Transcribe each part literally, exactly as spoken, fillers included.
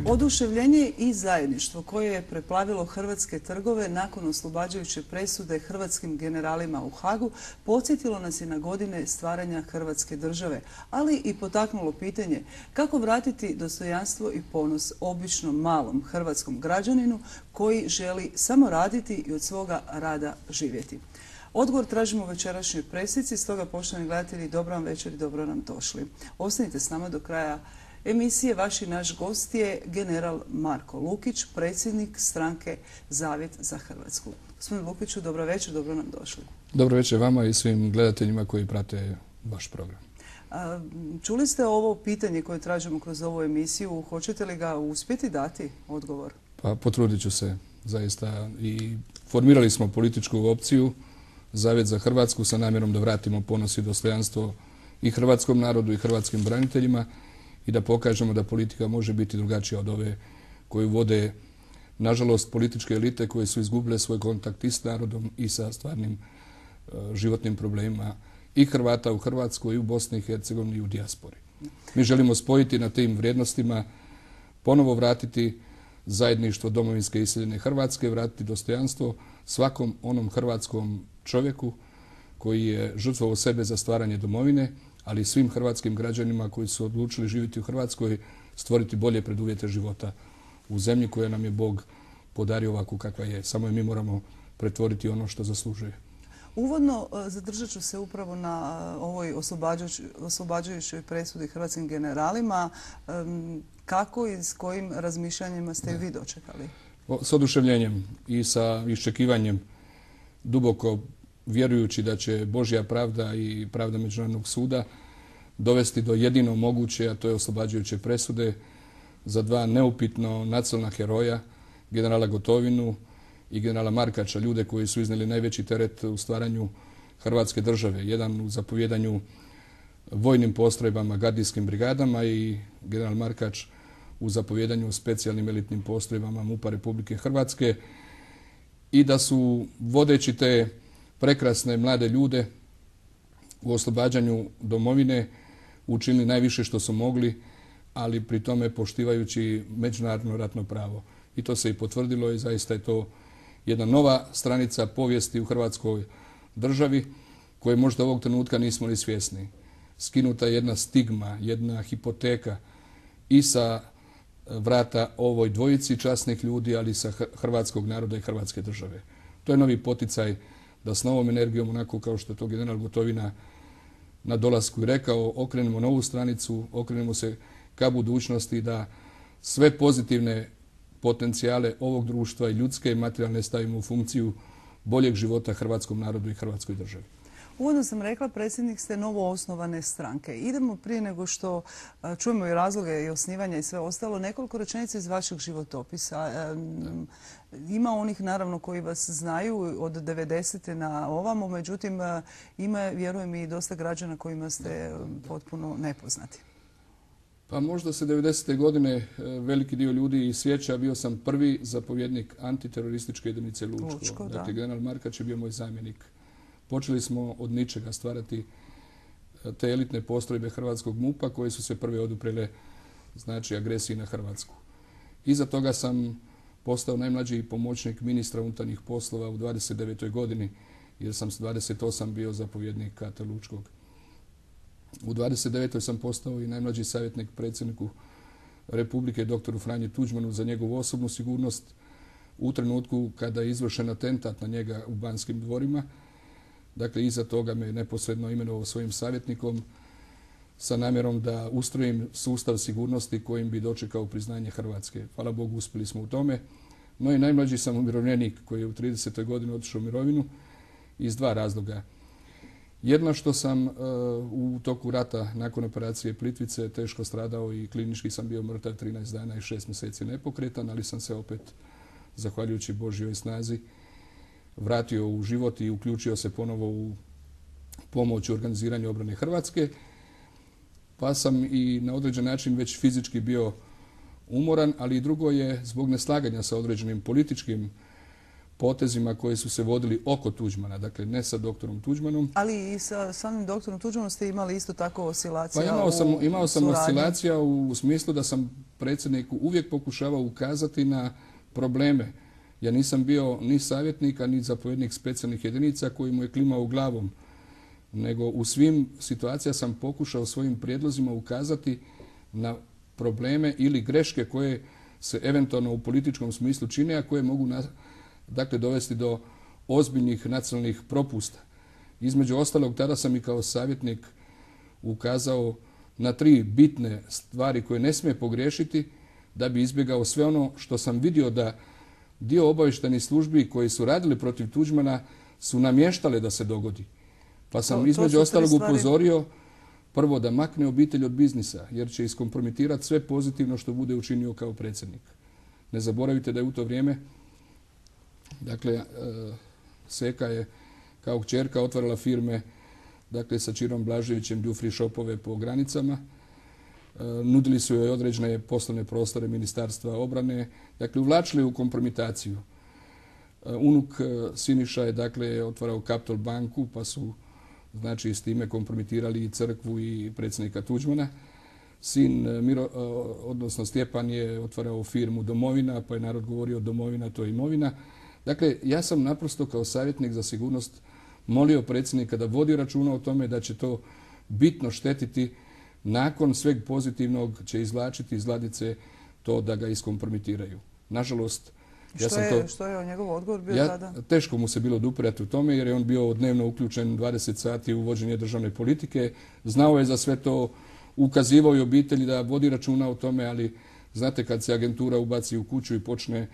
Oduševljenje i zajedništvo koje je preplavilo hrvatske trgove nakon oslobađajuće presude hrvatskim generalima u Hagu podsjetilo nas je na godine stvaranja Hrvatske države, ali i potaknulo pitanje kako vratiti dostojanstvo i ponos običnom malom hrvatskom građaninu koji želi samo raditi i od svoga rada živjeti. Odgovor tražimo u večerašnjoj pressici, stoga poštovani gledatelji, dobro vam večer i dobro nam došli. Ostanite s nama do kraja emisije. Vaš i naš gost je general Marko Lukić, predsjednik stranke Zavjet za Hrvatsku. Gospodine Lukiću, dobro večer, dobro nam došli. Dobro večer vama i svim gledateljima koji prate vaš program. Čuli ste ovo pitanje koje tražimo kroz ovu emisiju. Hoćete li ga uspjeti dati odgovor? Pa potrudit ću se zaista i formirali smo političku opciju Zavjet za Hrvatsku sa namjerom da vratimo ponos i dostojanstvo i hrvatskom narodu i hrvatskim braniteljima i da pokažemo da politika može biti drugačija od ove koju vode, nažalost, političke elite koje su izgubile svoj kontakt i s narodom i sa stvarnim uh, životnim problemima i Hrvata u Hrvatskoj i u Bosni i Hercegovini i u dijaspori. Mi želimo spojiti na tim vrijednostima, ponovo vratiti zajedništvo domovinske iseljene Hrvatske, vratiti dostojanstvo svakom onom hrvatskom čovjeku koji je žrtvovao sebe za stvaranje domovine, ali i svim hrvatskim građanima koji su odlučili živjeti u Hrvatskoj, stvoriti bolje preduvjete života u zemlji koja nam je Bog podario ovakvu kakva je. Samo je mi moramo pretvoriti ono što zaslužuje. Uvodno zadržat ću se upravo na ovoj oslobađajućoj presudi hrvatskim generalima. Kako i s kojim razmišljanjima ste vi dočekali? S oduševljenjem i sa iščekivanjem, duboko vjerujući da će Božja pravda i pravda Međunarodnog suda dovesti do jedino moguće, a to je oslobađajuće presude za dva neupitno nacionalna heroja, generala Gotovinu i generala Markača, ljude koji su iznijeli najveći teret u stvaranju Hrvatske države. Jedan u zapovjedanju vojnim postrojbama, gardijskim brigadama i general Markač u zapovjedanju specijalnim elitnim postrojbama MUP-a Republike Hrvatske i da su vodeći te prekrasne mlade ljude u oslobađanju domovine učinili najviše što su mogli, ali pri tome poštivajući međunarodno ratno pravo. I to se i potvrdilo i zaista je to jedna nova stranica povijesti u Hrvatskoj državi koje možda ovog trenutka nismo ni svjesni. Skinuta je jedna stigma, jedna hipoteka i sa vrata ovoj dvojici časnih ljudi, ali i sa hrvatskog naroda i Hrvatske države. To je novi poticaj da s novom energijom, onako kao što je to general Gotovina na dolasku i rekao, okrenemo novu stranicu, okrenemo se ka budućnosti, da sve pozitivne potencijale ovog društva i ljudske i materijalne stavimo u funkciju boljeg života hrvatskom narodu i Hrvatskoj državi. Uvodno sam rekla, predsjednik ste novo osnovane stranke. Idemo prije nego što čujemo i razloge i osnivanja i sve ostalo, nekoliko rečenica iz vašeg životopisa. Ima onih, naravno, koji vas znaju od devedesete na ovamo, međutim, ima, vjerujem, i dosta građana kojima ste potpuno nepoznati. Pa možda se devedesete godine veliki dio ljudi sjeća. Bio sam prvi zapovjednik antiterorističke jedinice Lučko. Lučko, da. Dakle, general Markač je bio moj zamjenik. Počeli smo od ničega stvarati te elitne postrojbe hrvatskog MUP-a koje su se prve oduprele, znači, agresiji na Hrvatsku. Iza toga sam postao najmlađi pomoćnik ministra unutarnjih poslova u dvadeset devetoj godini, jer sam s dvadeset osam bio zapovjednik K T Lučkog. U dvadeset devetoj sam postao i najmlađi savjetnik predsjedniku Republike doktoru Franji Tuđmanu za njegovu osobnu sigurnost u trenutku kada je izvršen atentat na njega u Banskim dvorima. Dakle, iza toga me neposredno imenovao svojim savjetnikom sa namjerom da ustrojim sustav sigurnosti kojim bi dočekao priznanje Hrvatske. Hvala Bogu, uspjeli smo u tome. No i najmlađi sam umirovljenik koji je u tridesetoj godini otišao u mirovinu iz dva razloga. Jedno, što sam uh, u toku rata nakon operacije Plitvice teško stradao i klinički sam bio mrtav trinaest dana i šest mjeseci nepokretan, ali sam se opet, zahvaljujući Božjoj snazi, vratio u život i uključio se ponovo u pomoć u organiziranju obrane Hrvatske. Pa sam i na određen način već fizički bio umoran, ali i drugo je zbog neslaganja sa određenim političkim potezima koji su se vodili oko Tuđmana, dakle ne sa doktorom Tuđmanom. Ali i sa samim doktorom Tuđmanom ste imali isto tako oscilacija Pa imao sam, u imao sam suradnji. oscilacija u smislu da sam predsjedniku uvijek pokušavao ukazati na probleme. Ja nisam bio ni savjetnik, a ni zapovjednik specijalnih jedinica koji mu je klimao glavom, nego u svim situacijama sam pokušao svojim prijedlozima ukazati na probleme ili greške koje se eventualno u političkom smislu čine, a koje mogu na, dakle, dovesti do ozbiljnih nacionalnih propusta. Između ostalog, tada sam i kao savjetnik ukazao na tri bitne stvari koje ne smije pogriješiti da bi izbjegao sve ono što sam vidio da dio obavještajnih službi koji su radili protiv Tuđmana su namještale da se dogodi. Pa sam to, to između ostalog stvari... upozorio prvo da makne obitelj od biznisa, jer će iskompromitirati sve pozitivno što bude učinio kao predsjednik. Ne zaboravite da je u to vrijeme, dakle, e, Seka je kao kćerka otvarala firme, dakle, sa Čirom Blaževićem, duty shopove po granicama. E, nudili su joj određene poslovne prostore Ministarstva obrane, dakle, uvlačili u kompromitaciju. E, unuk e, Siniša je, dakle, otvarao Capital banku, pa su, znači, s time kompromitirali i crkvu i predsjednika Tuđmana. Sin, Miro, odnosno Stjepan, je otvarao firmu Domovina, pa je narod govorio Domovina, to je imovina. Dakle, ja sam naprosto kao savjetnik za sigurnost molio predsjednika da vodi računa o tome da će to bitno štetiti, nakon sveg pozitivnog će izvlačiti iz ladice to da ga iskompromitiraju. Nažalost, ja što, sam je, to, što je njegov odgovor bio ja, tada? Teško mu se bilo odupirati u tome jer je on bio dnevno uključen dvadeset sati u vođenje državne politike. Znao je za sve to, ukazivao i obitelji da vodi računa o tome, ali znate kad se agentura ubaci u kuću i počne,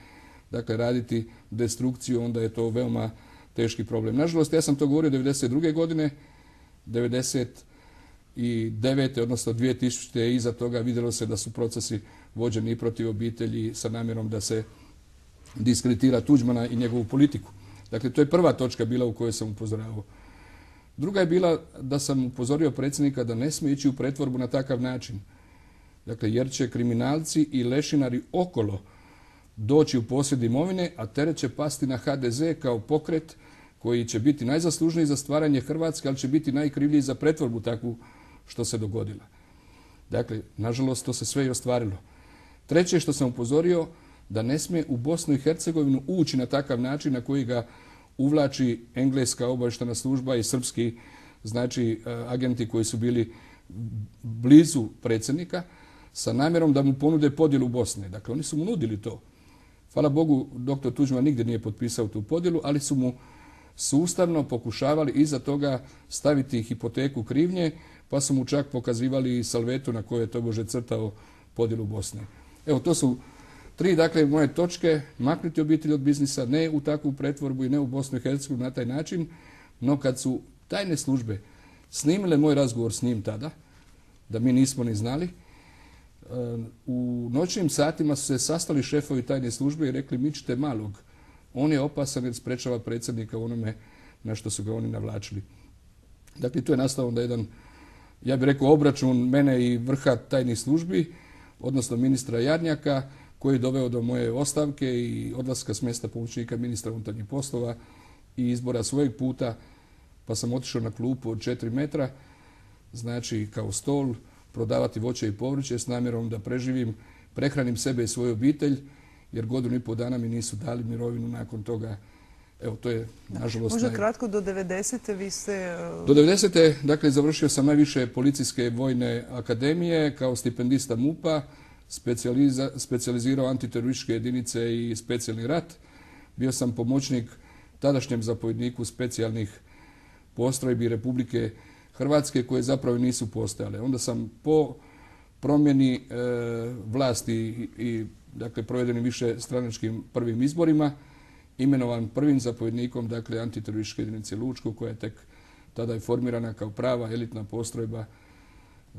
dakle, raditi destrukciju, onda je to veoma teški problem. Nažalost, ja sam to govorio devedeset druge godine, devedeset devete odnosno dvije tisućite iza toga vidjelo se da su procesi vođeni i protiv obitelji sa namjerom da se diskreditira Tuđmana i njegovu politiku. Dakle, to je prva točka bila u kojoj sam upozoravao. Druga je bila da sam upozorio predsjednika da ne smije ići u pretvorbu na takav način. Dakle, jer će kriminalci i lešinari okolo doći u posjed imovine, a teret će pasti na ha de ze kao pokret koji će biti najzaslužniji za stvaranje Hrvatske, ali će biti najkrivlji za pretvorbu takvu što se dogodila. Dakle, nažalost, to se sve i ostvarilo. Treće što sam upozorio, da ne smije u Bosnu i Hercegovinu ući na takav način na koji ga uvlači engleska obavještajna služba i srpski, znači, agenti koji su bili blizu predsjednika sa namjerom da mu ponude podjelu Bosne. Dakle, oni su mu nudili to. Hvala Bogu, doktor Tuđman nigdje nije potpisao tu podjelu, ali su mu sustavno pokušavali iza toga staviti hipoteku krivnje, pa su mu čak pokazivali salvetu na kojoj je tobože crtao podjelu Bosne. Evo, to su tri, dakle, moje točke: maknuti obitelj od biznisa, ne u takvu pretvorbu i ne u Bosnu i Hercegovinu na taj način, no kad su tajne službe snimile moj razgovor s njim tada, da mi nismo ni znali, u noćnim satima su se sastali šefovi tajne službe i rekli: mičite malog, on je opasan jer sprečava predsjednika u onome na što su ga oni navlačili. Dakle, tu je nastao onda jedan, ja bih rekao, obračun mene i vrha tajnih službi, odnosno ministra Jarnjaka, koji je doveo do moje ostavke i odlaska s mjesta pomoćnika ministra unutarnjih poslova i izbora svojeg puta, pa sam otišao na klupu od četiri metra, znači kao stol, prodavati voće i povrće s namjerom da preživim, prehranim sebe i svoju obitelj, jer godinu i pol dana mi nisu dali mirovinu nakon toga. Evo, to je, nažalost... Možda naj... kratko, do devedesete vi ste... Do devedesete dakle, završio sam najviše policijske vojne akademije kao stipendista MUP-a, specijalizirao antiterorističke jedinice i specijalni rat. Bio sam pomoćnik tadašnjem zapovjedniku specijalnih postrojbi Republike Hrvatske koje zapravo nisu postojale. Onda sam po promjeni e, vlasti i, i dakle, provedenim više stranačkim prvim izborima imenovan prvim zapovjednikom, dakle, antiterorističke jedinice Lučko, koja je tek tada je formirana kao prava elitna postrojba,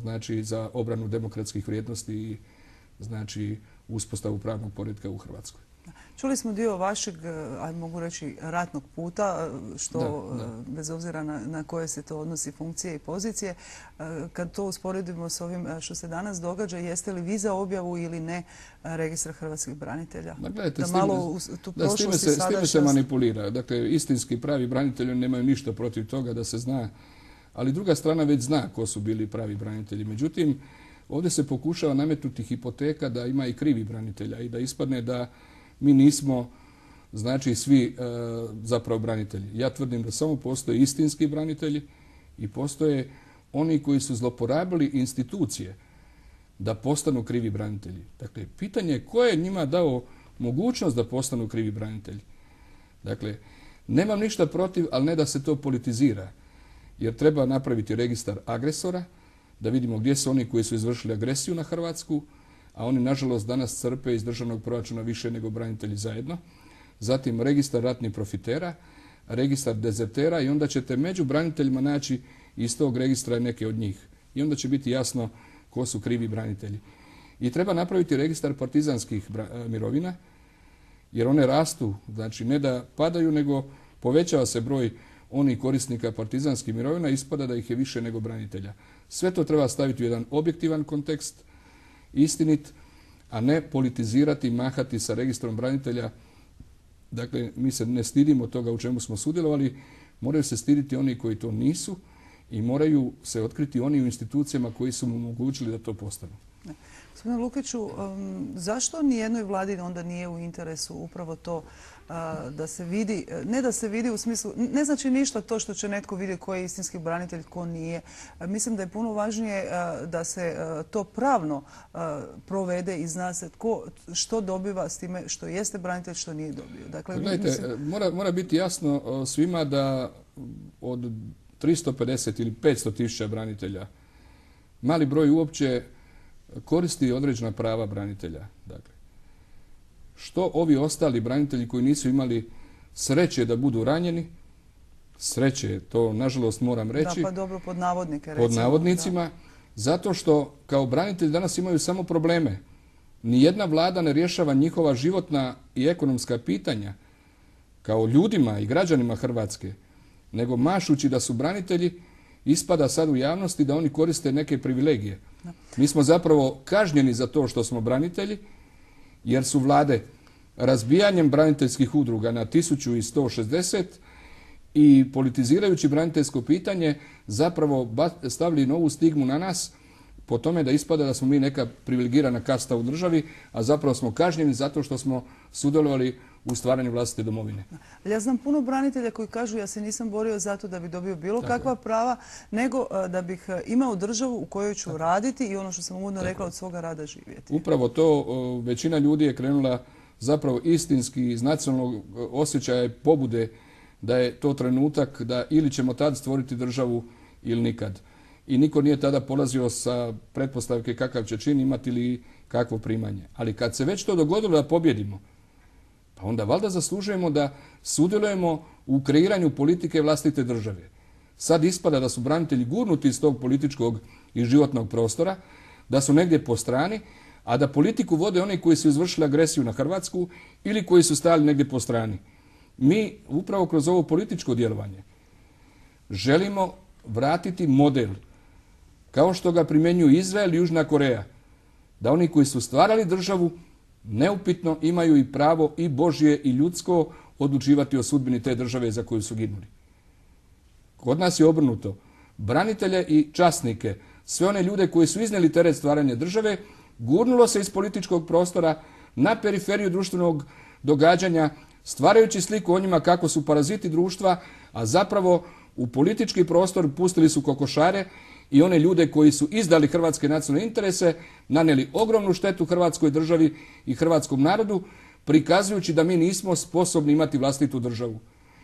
znači, za obranu demokratskih vrijednosti i, znači, uspostavu pravnog poretka u Hrvatskoj. Čuli smo dio vašeg, ajde mogu reći, ratnog puta, što Da, da. bez obzira na, na koje se to odnosi funkcije i pozicije. Kad to usporedimo s ovim što se danas događa, jeste li vi za objavu ili ne registra hrvatskih branitelja? Ma gledajte, da s time, malo u tu da, s time prošlost se, i s time se sadašnjost. manipulira. Dakle, istinski pravi branitelji nemaju ništa protiv toga da se zna, ali druga strana već zna ko su bili pravi branitelji. Međutim, ovdje se pokušava nametnuti hipoteka da ima i krivi branitelja i da ispadne da mi nismo, znači, svi e, zapravo branitelji. Ja tvrdim da samo postoje istinski branitelji i postoje oni koji su zloporabili institucije da postanu krivi branitelji. Dakle, pitanje je ko je njima dao mogućnost da postanu krivi branitelji. Dakle, nemam ništa protiv, ali ne da se to politizira. Jer treba napraviti registar agresora, da vidimo gdje su oni koji su izvršili agresiju na Hrvatsku, a oni, nažalost, danas crpe iz državnog proračuna više nego branitelji zajedno. Zatim registar ratnih profitera, registar dezertera i onda ćete među braniteljima naći iz tog registra neke od njih. I onda će biti jasno ko su krivi branitelji. I treba napraviti registar partizanskih mirovina, jer one rastu, znači ne da padaju, nego povećava se broj onih korisnika partizanskih mirovina, ispada da ih je više nego branitelja. Sve to treba staviti u jedan objektivan kontekst, istinit, a ne politizirati, mahati sa registrom branitelja. Dakle, mi se ne stidimo toga u čemu smo sudjelovali, moraju se stiditi oni koji to nisu i moraju se otkriti oni u institucijama koji su mu omogućili da to postanu. Gospodine Lukiću, um, zašto nijednoj vladi onda nije u interesu upravo to uh, da se vidi, ne da se vidi u smislu, ne znači ništa to što će netko vidjeti ko je istinski branitelj, ko nije. Uh, mislim da je puno važnije uh, da se uh, to pravno uh, provede i zna se tko što dobiva s time što jeste branitelj, što nije dobio. Dakle, gledajte, mislim... mora, mora biti jasno uh, svima da od tristo pedeset ili petsto tisuća branitelja mali broj uopće koristi određena prava branitelja. Dakle, što ovi ostali branitelji koji nisu imali sreće da budu ranjeni, sreće, to nažalost moram reći. Da, pa dobro, pod navodnike recimo. Pod navodnicima, da. Zato što kao branitelji danas imaju samo probleme. Nijedna vlada ne rješava njihova životna i ekonomska pitanja kao ljudima i građanima Hrvatske, nego mašući da su branitelji, ispada sad u javnosti da oni koriste neke privilegije. Mi smo zapravo kažnjeni za to što smo branitelji, jer su vlade razbijanjem braniteljskih udruga na tisuću sto šezdeset i politizirajući braniteljsko pitanje zapravo stavili novu stigmu na nas po tome da ispada da smo mi neka privilegirana kasta u državi, a zapravo smo kažnjeni zato što smo sudjelovali u stvaranju vlastite domovine. Ja znam puno branitelja koji kažu ja se nisam borio zato da bi dobio bilo Tako kakva je. prava, nego da bih imao državu u kojoj ću Tako. raditi i ono što sam uvodno rekla, od svoga rada živjeti. Upravo to, većina ljudi je krenula zapravo istinski iz nacionalnog osjećaja i pobude da je to trenutak da ili ćemo tad stvoriti državu ili nikad. I niko nije tada polazio sa pretpostavke kakav će čin imati ili kakvo primanje. Ali kad se već to dogodilo da pobjedimo, pa onda valjda zaslužujemo da sudjelujemo u kreiranju politike vlastite države. Sad ispada da su branitelji gurnuti iz tog političkog i životnog prostora, da su negdje po strani, a da politiku vode oni koji su izvršili agresiju na Hrvatsku ili koji su stali negdje po strani. Mi upravo kroz ovo političko djelovanje želimo vratiti model kao što ga primjenjuju Izrael i Južna Koreja, da oni koji su stvarali državu neupitno imaju i pravo i Božje i ljudsko odlučivati o sudbini te države za koju su ginuli. Kod nas je obrnuto. Branitelje i časnike, sve one ljude koji su iznijeli teret stvaranja države, gurnulo se iz političkog prostora na periferiju društvenog događanja, stvarajući sliku o njima kako su paraziti društva, a zapravo u politički prostor pustili su kokošare i one ljude koji su izdali hrvatske nacionalne interese, nanijeli ogromnu štetu Hrvatskoj državi i hrvatskom narodu, prikazujući da mi nismo sposobni imati vlastitu državu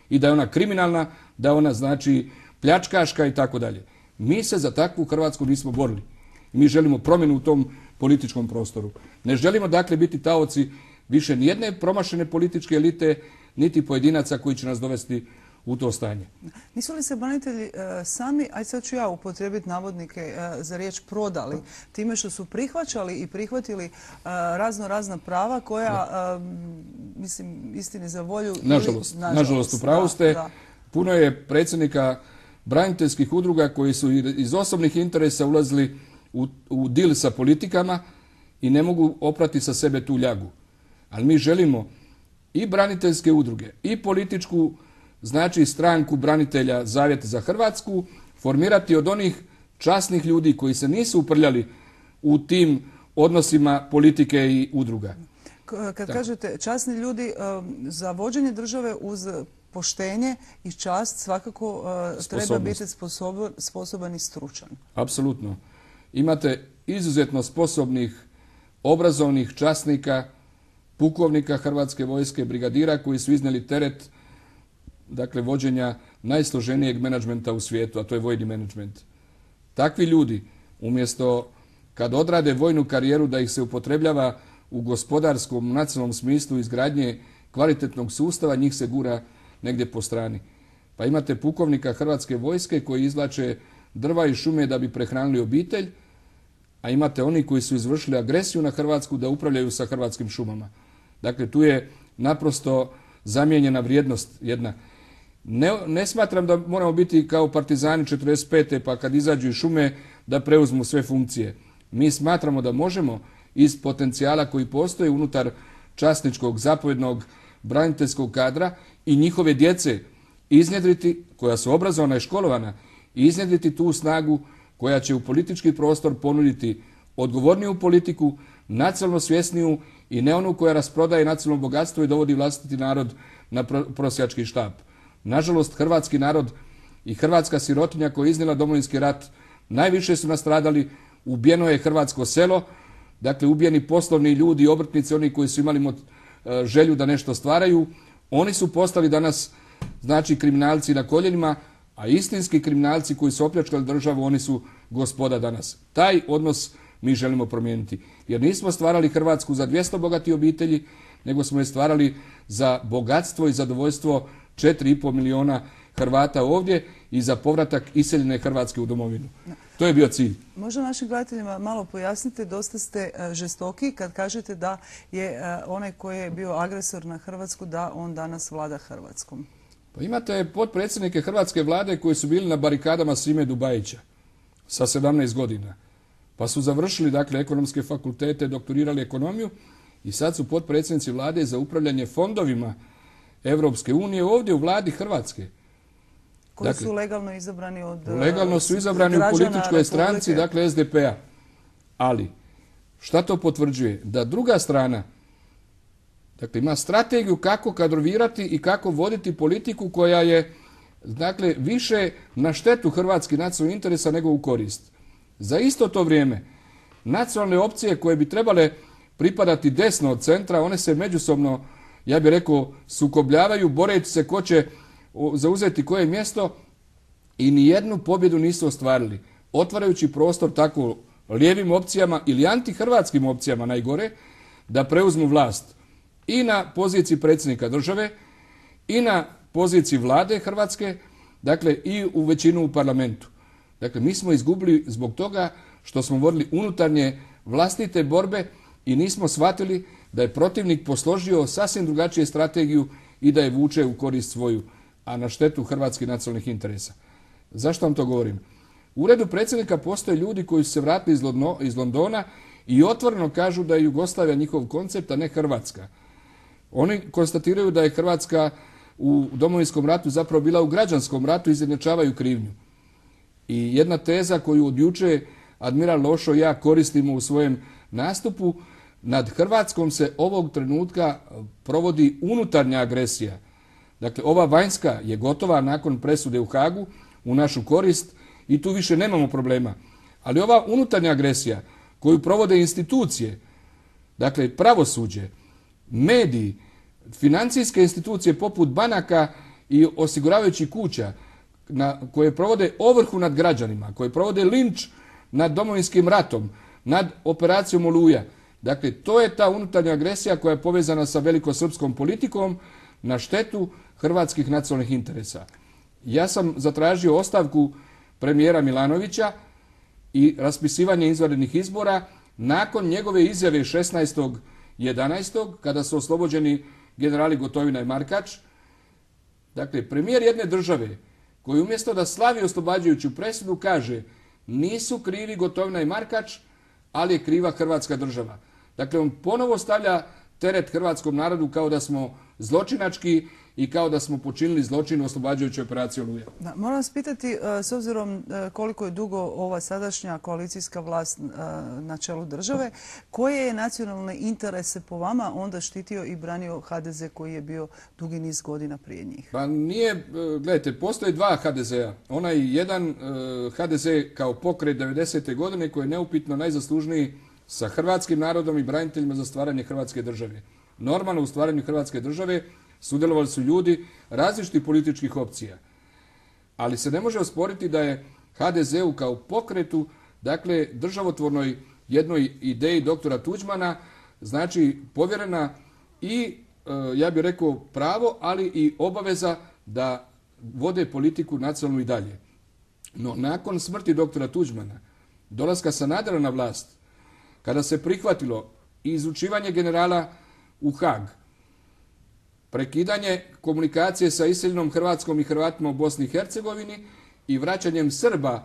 i da je ona kriminalna, da je ona znači pljačkaška i tako dalje. Mi se za takvu Hrvatsku nismo borili. Mi želimo promjenu u tom političkom prostoru. Ne želimo dakle biti taoci više nijedne promašene političke elite, niti pojedinaca koji će nas dovesti u to stanje. Nisu li se branitelji e, sami, aj sad ću ja upotrijebiti navodnike e, za riječ prodali, time što su prihvaćali i prihvatili e, razno razna prava koja, e, mislim, istini za volju... Nažalost, nažalost, nažalost u pravu ste. Da, da. Puno je predsjednika braniteljskih udruga koji su iz osobnih interesa ulazili u, u dil sa politikama i ne mogu oprati sa sebe tu ljagu. Ali mi želimo i braniteljske udruge i političku, znači stranku branitelja Zavjet za Hrvatsku, formirati od onih časnih ljudi koji se nisu uprljali u tim odnosima politike i udruga. Kad Tako. kažete časni ljudi, za vođenje države uz poštenje i čast svakako uh, treba biti sposoban, sposoban i stručan. Apsolutno. Imate izuzetno sposobnih, obrazovnih časnika, pukovnika Hrvatske vojske, brigadira koji su iznijeli teret, dakle, vođenja najsloženijeg menadžmenta u svijetu, a to je vojni menadžment. Takvi ljudi, umjesto kad odrade vojnu karijeru da ih se upotrebljava u gospodarskom, nacionalnom smislu izgradnje kvalitetnog sustava, njih se gura negdje po strani. Pa imate pukovnika Hrvatske vojske koji izvlače drva i šume da bi prehranili obitelj, a imate oni koji su izvršili agresiju na Hrvatsku da upravljaju sa hrvatskim šumama. Dakle, tu je naprosto zamijenjena vrijednost jedna. Ne, ne smatram da moramo biti kao partizani četrdeset pete pa kad izađu iz šume da preuzmu sve funkcije. Mi smatramo da možemo iz potencijala koji postoji unutar časničkog, zapovjednog, braniteljskog kadra i njihove djece iznjedriti, koja su obrazovana i školovana, iznjedriti tu snagu koja će u politički prostor ponuditi odgovorniju politiku, nacionalno svjesniju i ne onu koja rasprodaje nacionalno bogatstvo i dovodi vlastiti narod na prosjački štap. Nažalost, hrvatski narod i hrvatska sirotinja koja je iznijela Domovinski rat najviše su nastradali, ubijeno je hrvatsko selo, dakle ubijeni poslovni ljudi, obrtnici, oni koji su imali mot, želju da nešto stvaraju, oni su postali danas, znači, kriminalci na koljenima, a istinski kriminalci koji su opljačkali državu, oni su gospoda danas. Taj odnos mi želimo promijeniti. Jer nismo stvarali Hrvatsku za dvjesto bogatih obitelji, nego smo je stvarali za bogatstvo i zadovoljstvo četiri i pol milijuna Hrvata ovdje i za povratak iseljene Hrvatske u domovinu. To je bio cilj. Možda našim gledateljima malo pojasnite, dosta ste žestoki kad kažete da je onaj koji je bio agresor na Hrvatsku, da on danas vlada Hrvatskom. Pa imate potpredsjednike hrvatske vlade koji su bili na barikadama Sime Dubajića sa sedamnaest godina. Pa su završili, dakle, ekonomske fakultete, doktorirali ekonomiju i sad su potpredsjednici vlade za upravljanje fondovima Evropske unije ovdje u vladi Hrvatske. Koji dakle, su legalno izabrani od legalno su izabrani u političkoj stranci, dakle S D P-a. Ali, šta to potvrđuje? Da druga strana, dakle, ima strategiju kako kadrovirati i kako voditi politiku koja je, dakle, više na štetu hrvatskih nacionalnih interesa nego u korist. Za isto to vrijeme, nacionalne opcije koje bi trebale pripadati desno od centra, one se međusobno, ja bih rekao, sukobljavaju, boreći se ko će zauzeti koje mjesto i nijednu pobjedu nisu ostvarili. Otvarajući prostor tako lijevim opcijama ili antihrvatskim opcijama najgore, da preuzmu vlast i na poziciji predsjednika države i na poziciji vlade Hrvatske, dakle i u većinu u parlamentu. Dakle, mi smo izgubili zbog toga što smo vodili unutarnje vlastite borbe i nismo shvatili da je protivnik posložio sasvim drugačiju strategiju i da je vuče u korist svoju, a na štetu hrvatskih nacionalnih interesa. Zašto vam to govorim? U uredu predsjednika postoje ljudi koji su se vratili iz, Lodno, iz Londona i otvoreno kažu da je Jugoslavija njihov koncept, a ne Hrvatska. Oni konstatiraju da je Hrvatska u Domovinskom ratu zapravo bila u građanskom ratu i izjednačavaju krivnju. I jedna teza koju od juče admiral Lošo i ja koristimo u svojem nastupu, nad Hrvatskom se ovog trenutka provodi unutarnja agresija. Dakle, ova vanjska je gotova nakon presude u Hagu u našu korist i tu više nemamo problema. Ali ova unutarnja agresija koju provode institucije, dakle pravosuđe, mediji, financijske institucije poput banaka i osiguravajućih kuća, na, koje provode ovrhu nad građanima, koje provode linč nad Domovinskim ratom, nad operacijom Oluja. Dakle, to je ta unutarnja agresija koja je povezana sa velikosrpskom politikom na štetu hrvatskih nacionalnih interesa. Ja sam zatražio ostavku premijera Milanovića i raspisivanje izvanrednih izbora nakon njegove izjave šesnaestog jedanaestog kada su oslobođeni generali Gotovina i Markač. Dakle, premijer jedne države koji umjesto da slavi oslobađajuću presudu kaže nisu krivi Gotovina i Markač, ali je kriva Hrvatska država. Dakle, on ponovo stavlja teret hrvatskom narodu kao da smo zločinački i kao da smo počinili zločin u oslobađajućoj operaciji Oluja. Da, moram vas pitati, s obzirom koliko je dugo ova sadašnja koalicijska vlast na čelu države, koje je nacionalne interese po vama onda štitio i branio ha de ze koji je bio dugi niz godina prije njih? Pa nije, gledajte, postoje dva ha de zea. Onaj jedan ha de ze kao pokret devedesete godine koji je neupitno najzaslužniji sa hrvatskim narodom i braniteljima za stvaranje Hrvatske države. Normalno u stvaranju Hrvatske države sudjelovali su ljudi različitih političkih opcija. Ali se ne može osporiti da je ha de zeu kao pokretu, dakle državotvornoj jednoj ideji doktora Tuđmana, znači povjerena i, ja bih rekao, pravo, ali i obaveza da vode politiku nacionalnu i dalje. No nakon smrti doktora Tuđmana, dolaska Sanadera na vlast, kada se prihvatilo izručivanje generala u Haag, prekidanje komunikacije sa iseljenom Hrvatskom i Hrvatima u Bosni i Hercegovini i vraćanjem Srba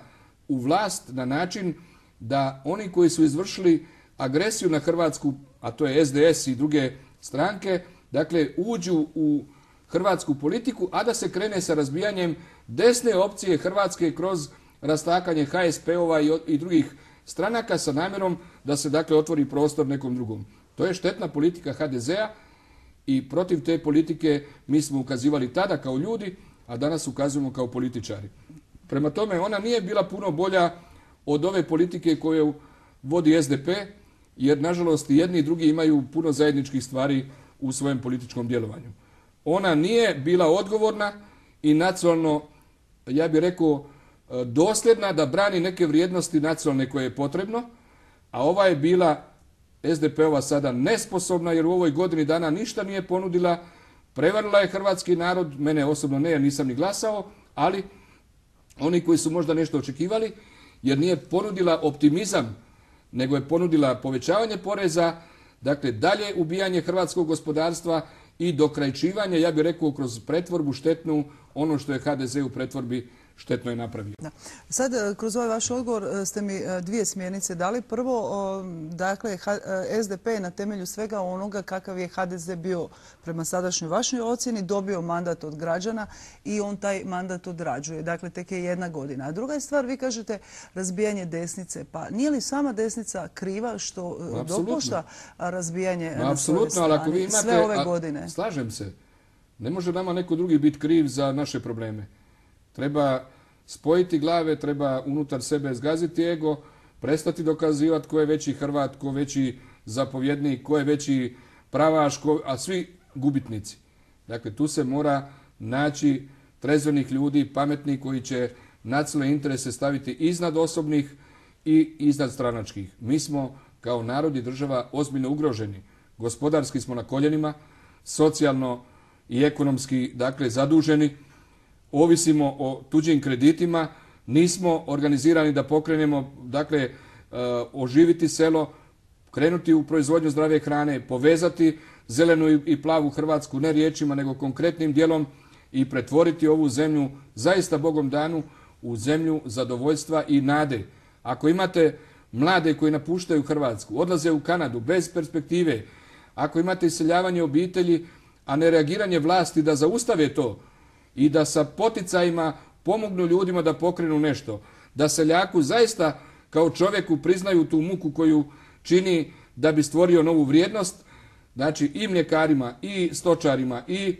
u vlast na način da oni koji su izvršili agresiju na Hrvatsku, a to je es de es i druge stranke, dakle uđu u hrvatsku politiku, a da se krene sa razbijanjem desne opcije Hrvatske kroz rastakanje ha es pe ova i, i drugih stranaka sa namjerom da se dakle otvori prostor nekom drugom. To je štetna politika ha de zea i protiv te politike mi smo ukazivali tada kao ljudi, a danas ukazujemo kao političari. Prema tome, ona nije bila puno bolja od ove politike koju vodi es de pe, jer nažalost jedni i drugi imaju puno zajedničkih stvari u svojem političkom djelovanju. Ona nije bila odgovorna i nacionalno, ja bih rekao, dosljedna da brani neke vrijednosti nacionalne koje je potrebno, a ova je bila es de pe ova sada nesposobna jer u ovoj godini dana ništa nije ponudila, prevarila je hrvatski narod, mene osobno ne, jer nisam ni glasao, ali oni koji su možda nešto očekivali, jer nije ponudila optimizam, nego je ponudila povećavanje poreza, dakle dalje ubijanje hrvatskog gospodarstva i dokrajčivanje, ja bih rekao, kroz pretvorbu štetnu, ono što je ha de ze u pretvorbi štetno je napravio. Da. Sad, kroz ovaj vaš odgovor ste mi dvije smjernice dali. Prvo, dakle, es de pe je na temelju svega onoga kakav je ha de ze bio prema sadašnjoj vašoj ocjeni dobio mandat od građana i on taj mandat odrađuje. Dakle, tek je jedna godina. A druga je stvar, vi kažete razbijanje desnice. Pa nije li sama desnica kriva što dopušta razbijanje na svojoj strani sve ove godine? Slažem se. Ne može nama neko drugi biti kriv za naše probleme. Treba spojiti glave, treba unutar sebe zgaziti ego, prestati dokazivati ko je veći Hrvat, ko je veći zapovjednik, ko je veći pravaš, ko, a svi gubitnici. Dakle, tu se mora naći trezvenih ljudi, pametnih koji će nacionalne interese staviti iznad osobnih i iznad stranačkih. Mi smo kao narod i država ozbiljno ugroženi. Gospodarski smo na koljenima, socijalno i ekonomski, dakle, zaduženi. Ovisimo o tuđim kreditima, nismo organizirani da pokrenemo, dakle, oživiti selo, krenuti u proizvodnju zdrave hrane, povezati zelenu i plavu Hrvatsku ne riječima nego konkretnim djelom i pretvoriti ovu zemlju zaista Bogom danu u zemlju zadovoljstva i nade. Ako imate mlade koji napuštaju Hrvatsku, odlaze u Kanadu bez perspektive, ako imate iseljavanje obitelji, a ne reagiranje vlasti da zaustave to, i da sa poticajima pomognu ljudima da pokrenu nešto. Da seljaku zaista kao čovjeku priznaju tu muku koju čini da bi stvorio novu vrijednost. Znači i mljekarima, i stočarima, i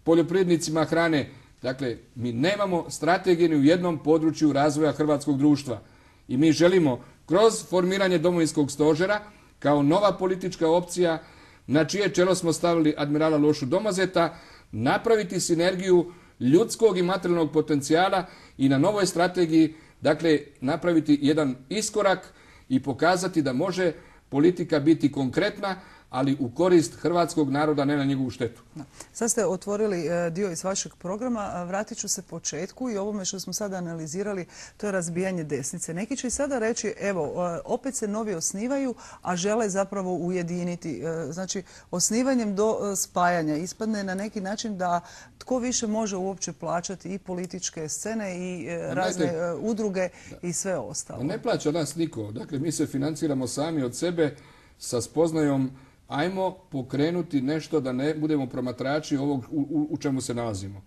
poljoprivrednicima hrane. Dakle, mi nemamo strategije ni u jednom području razvoja hrvatskog društva. I mi želimo kroz formiranje domovinskog stožera kao nova politička opcija na čije čelo smo stavili admirala Lošu Domazeta napraviti sinergiju ljudskog i materijalnog potencijala i na novoj strategiji, dakle, napraviti jedan iskorak i pokazati da može politika biti konkretna, ali u korist hrvatskog naroda, ne na njegovu štetu. Da. Sad ste otvorili dio iz vašeg programa. Vratit ću se početku i ovome što smo sada analizirali, to je razbijanje desnice. Neki će i sada reći, evo, opet se novi osnivaju, a žele zapravo ujediniti. Znači, osnivanjem do spajanja ispadne na neki način da tko više može uopće plaćati i političke scene i razne Znajte, udruge i sve ostalo. Ne plaća nas niko. Dakle, mi se financiramo sami od sebe sa spoznajom ajmo pokrenuti nešto da ne budemo promatrači ovog u, u, u čemu se nalazimo.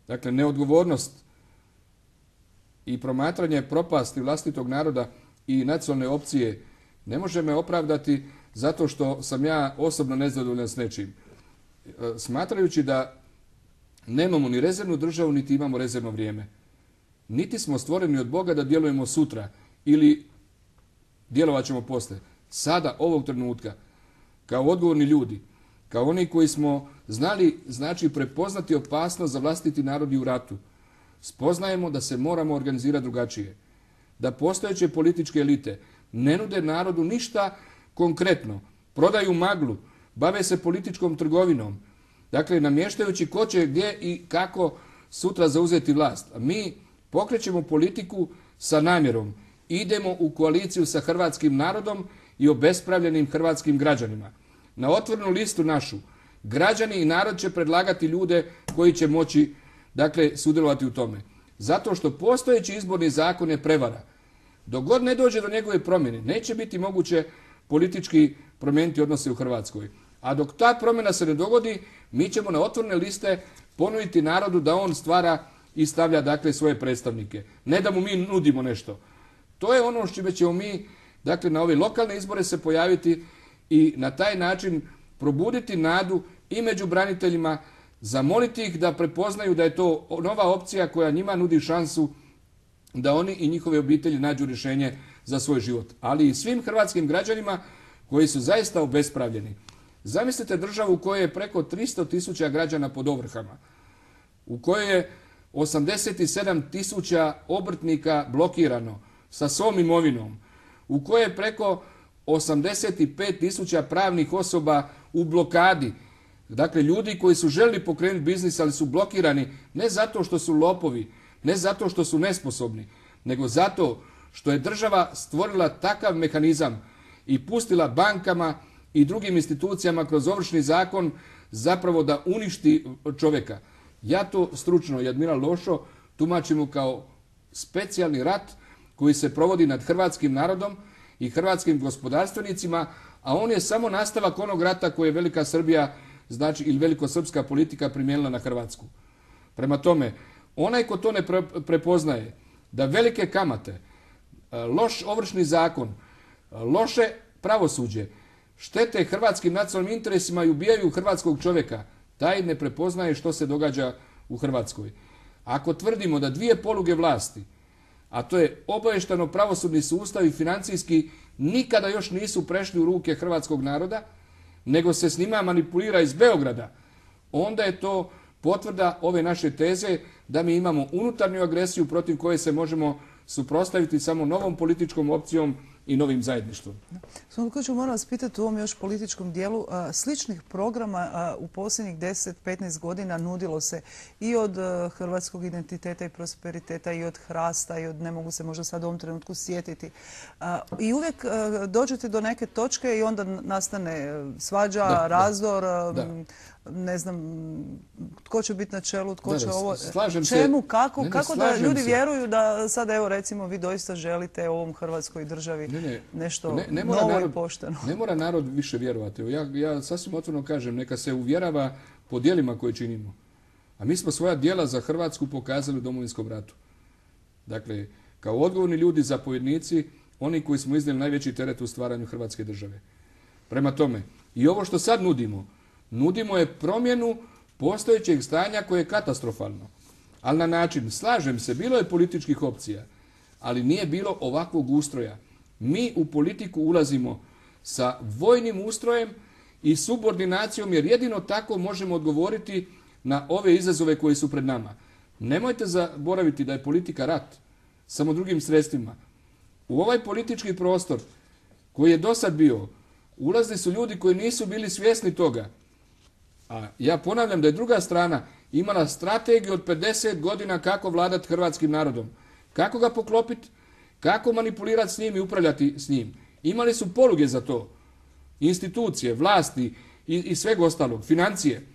Dakle, neodgovornost i promatranje propasti vlastitog naroda i nacionalne opcije ne može me opravdati zato što sam ja osobno nezadovoljan s nečim. Smatrajući da nemamo ni rezervnu državu, niti imamo rezervno vrijeme. Niti smo stvoreni od Boga da djelujemo sutra ili djelovat ćemo poslije. Sada, ovog trenutka, kao odgovorni ljudi, kao oni koji smo znali, znači prepoznati opasnost za vlastiti narod i u ratu, spoznajemo da se moramo organizirati drugačije. Da postojeće političke elite ne nude narodu ništa konkretno, prodaju maglu, bave se političkom trgovinom, dakle namještajući ko će gdje i kako sutra zauzeti vlast. A mi pokrećemo politiku sa namjerom. Idemo u koaliciju sa hrvatskim narodom i obespravljenim hrvatskim građanima. Na otvorenu listu našu građani i narod će predlagati ljude koji će moći, dakle, sudjelovati u tome. Zato što postojeći izborni zakon je prevara. Dok god ne dođe do njegove promjene, neće biti moguće politički promijeniti odnose u Hrvatskoj. A dok ta promjena se ne dogodi, mi ćemo na otvorene liste ponuditi narodu da on stvara i stavlja, dakle, svoje predstavnike. Ne da mu mi nudimo nešto. To je ono što ćemo mi, dakle, na ove lokalne izbore se pojaviti i na taj način probuditi nadu i među braniteljima, zamoliti ih da prepoznaju da je to nova opcija koja njima nudi šansu da oni i njihove obitelji nađu rješenje za svoj život. Ali i svim hrvatskim građanima koji su zaista obespravljeni. Zamislite državu u kojoj je preko tristo tisuća građana pod ovrhama, u kojoj je osamdeset sedam tisuća obrtnika blokirano sa svom imovinom, u kojoj je preko osamdeset pet tisuća pravnih osoba u blokadi. Dakle, ljudi koji su željeli pokrenuti biznis, ali su blokirani ne zato što su lopovi, ne zato što su nesposobni, nego zato što je država stvorila takav mehanizam i pustila bankama i drugim institucijama kroz Ovršni zakon zapravo da uništi čovjeka. Ja to stručno i admiral Lošo tumačimo kao specijalni rat koji se provodi nad hrvatskim narodom i hrvatskim gospodarstvenicima, a on je samo nastavak onog rata koje je Velika Srbija, znači ili velikosrpska politika primijenila na Hrvatsku. Prema tome, onaj ko to ne prepoznaje, da velike kamate, loš Ovršni zakon, loše pravosuđe, štete hrvatskim nacionalnim interesima i ubijaju hrvatskog čovjeka, taj ne prepoznaje što se događa u Hrvatskoj. Ako tvrdimo da dvije poluge vlasti, a to je obaveštano pravosudni sustav i financijski, nikada još nisu prešli u ruke hrvatskog naroda, nego se s njima manipulira iz Beograda, onda je to potvrda ove naše teze da mi imamo unutarnju agresiju protiv koje se možemo suprotstaviti samo novom političkom opcijom i novim zajedništvom. Svakako ću moram vas pitati u ovom još političkom dijelu. Sličnih programa u posljednjih deset do petnaest godina nudilo se i od hrvatskog identiteta i prosperiteta i od Hrasta i od, ne mogu se možda sad u ovom trenutku sjetiti. I uvijek dođete do neke točke i onda nastane svađa, da, razdor, da. Ne znam tko će biti na čelu, tko da, će ovo, čemu, kako, ne, ne, kako da ljudi se. Vjeruju da sad, evo recimo, vi doista želite ovom Hrvatskoj državi ne, ne, nešto ne, ne novo narod, i pošteno. Ne mora narod više vjerovati. Ja, ja sasvim otvoreno kažem, neka se uvjerava po djelima koje činimo. A mi smo svoja djela za Hrvatsku pokazali u Domovinskom ratu. Dakle, kao odgovorni ljudi, zapovjednici, oni koji smo iznijeli najveći teret u stvaranju Hrvatske države. Prema tome, i ovo što sad nudimo, nudimo je promjenu postojećeg stanja koje je katastrofalno. Ali na način, slažem se, bilo je političkih opcija, ali nije bilo ovakvog ustroja. Mi u politiku ulazimo sa vojnim ustrojem i subordinacijom, jer jedino tako možemo odgovoriti na ove izazove koji su pred nama. Nemojte zaboraviti da je politika rat, samo drugim sredstvima. U ovaj politički prostor koji je do sad bio Ulazili su ljudi koji nisu bili svjesni toga. A ja ponavljam da je druga strana imala strategiju od pedeset godina kako vladati hrvatskim narodom. Kako ga poklopiti, kako manipulirati s njim i upravljati s njim. Imali su poluge za to. Institucije, vlasti i, i sveg ostalog, financije.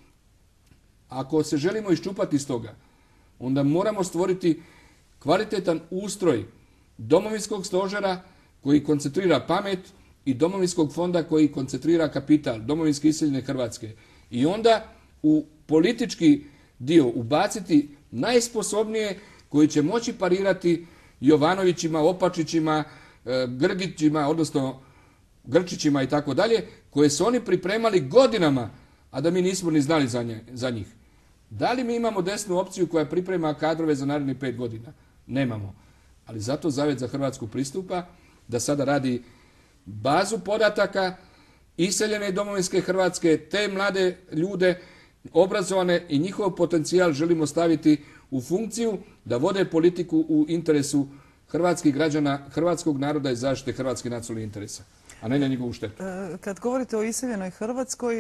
Ako se želimo iščupati iz toga, onda moramo stvoriti kvalitetan ustroj domovinskog stožera koji koncentrira pamet i domovinskog fonda koji koncentrira kapital, domovinski iseljene Hrvatske. I onda u politički dio ubaciti najsposobnije koji će moći parirati Jovanovićima, Opačićima, Grgićima, odnosno Grčićima i tako dalje, koje su oni pripremali godinama, a da mi nismo ni znali za, nje, za njih. Da li mi imamo desnu opciju koja priprema kadrove za narednih pet godina? Nemamo. Ali zato Zavjet za Hrvatsku pristupa da sada radi bazu podataka iseljene domovinske Hrvatske, te mlade ljude, obrazovane i njihov potencijal želimo staviti u funkciju da vode politiku u interesu hrvatskih građana, hrvatskog naroda i zaštite hrvatskih nacionalnih interesa, a ne na njegovu štetu. Kad govorite o iseljenoj Hrvatskoj,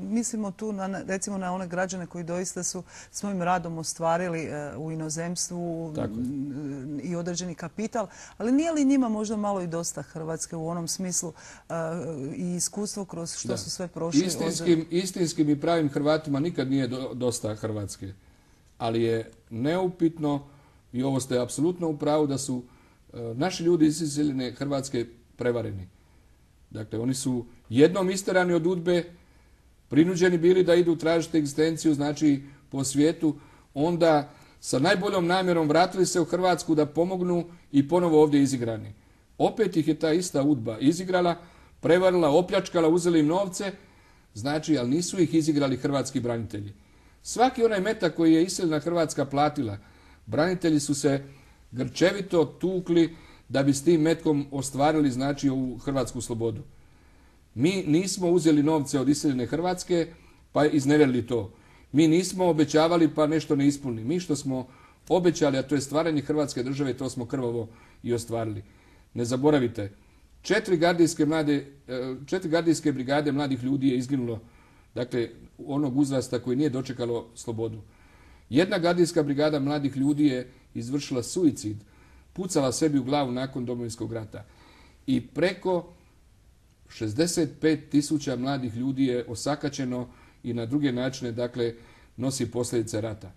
mislimo tu na, recimo na one građane koji doista su svojim radom ostvarili u inozemstvu i određeni kapital, ali nije li njima možda malo i dosta Hrvatske u onom smislu i iskustvo kroz što da. su sve prošli? Istinskim, od... istinskim i pravim Hrvatima nikad nije do, dosta Hrvatske, ali je neupitno, i ovo ste apsolutno u pravu, da su naši ljudi iz iseljene Hrvatske prevareni. Dakle, oni su jednom isterani od udbe, prinuđeni bili da idu tražiti egzistenciju, znači po svijetu, onda sa najboljom namjerom vratili se u Hrvatsku da pomognu i ponovo ovdje izigrani. Opet ih je ta ista udba izigrala, prevarila, opljačkala, uzeli im novce, znači, ali nisu ih izigrali hrvatski branitelji. Svaki onaj metak koji je iseljena Hrvatska platila, branitelji su se grčevito tukli da bi s tim metkom ostvarili, znači, ovu hrvatsku slobodu. Mi nismo uzeli novce od iseljene Hrvatske pa iznevjerili to. Mi nismo obećavali pa nešto ne ispunili. Mi što smo obećali, a to je stvaranje Hrvatske države, to smo krvavo i ostvarili. Ne zaboravite, četiri gardijske, mlade, četiri gardijske brigade mladih ljudi je izginulo, dakle, onog uzrasta koji nije dočekalo slobodu. Jedna gardijska brigada mladih ljudi je izvršila suicid, pucala sebi u glavu nakon Domovinskog rata. I preko šezdeset pet tisuća mladih ljudi je osakaćeno i na druge načine, dakle, nosi posljedice rata.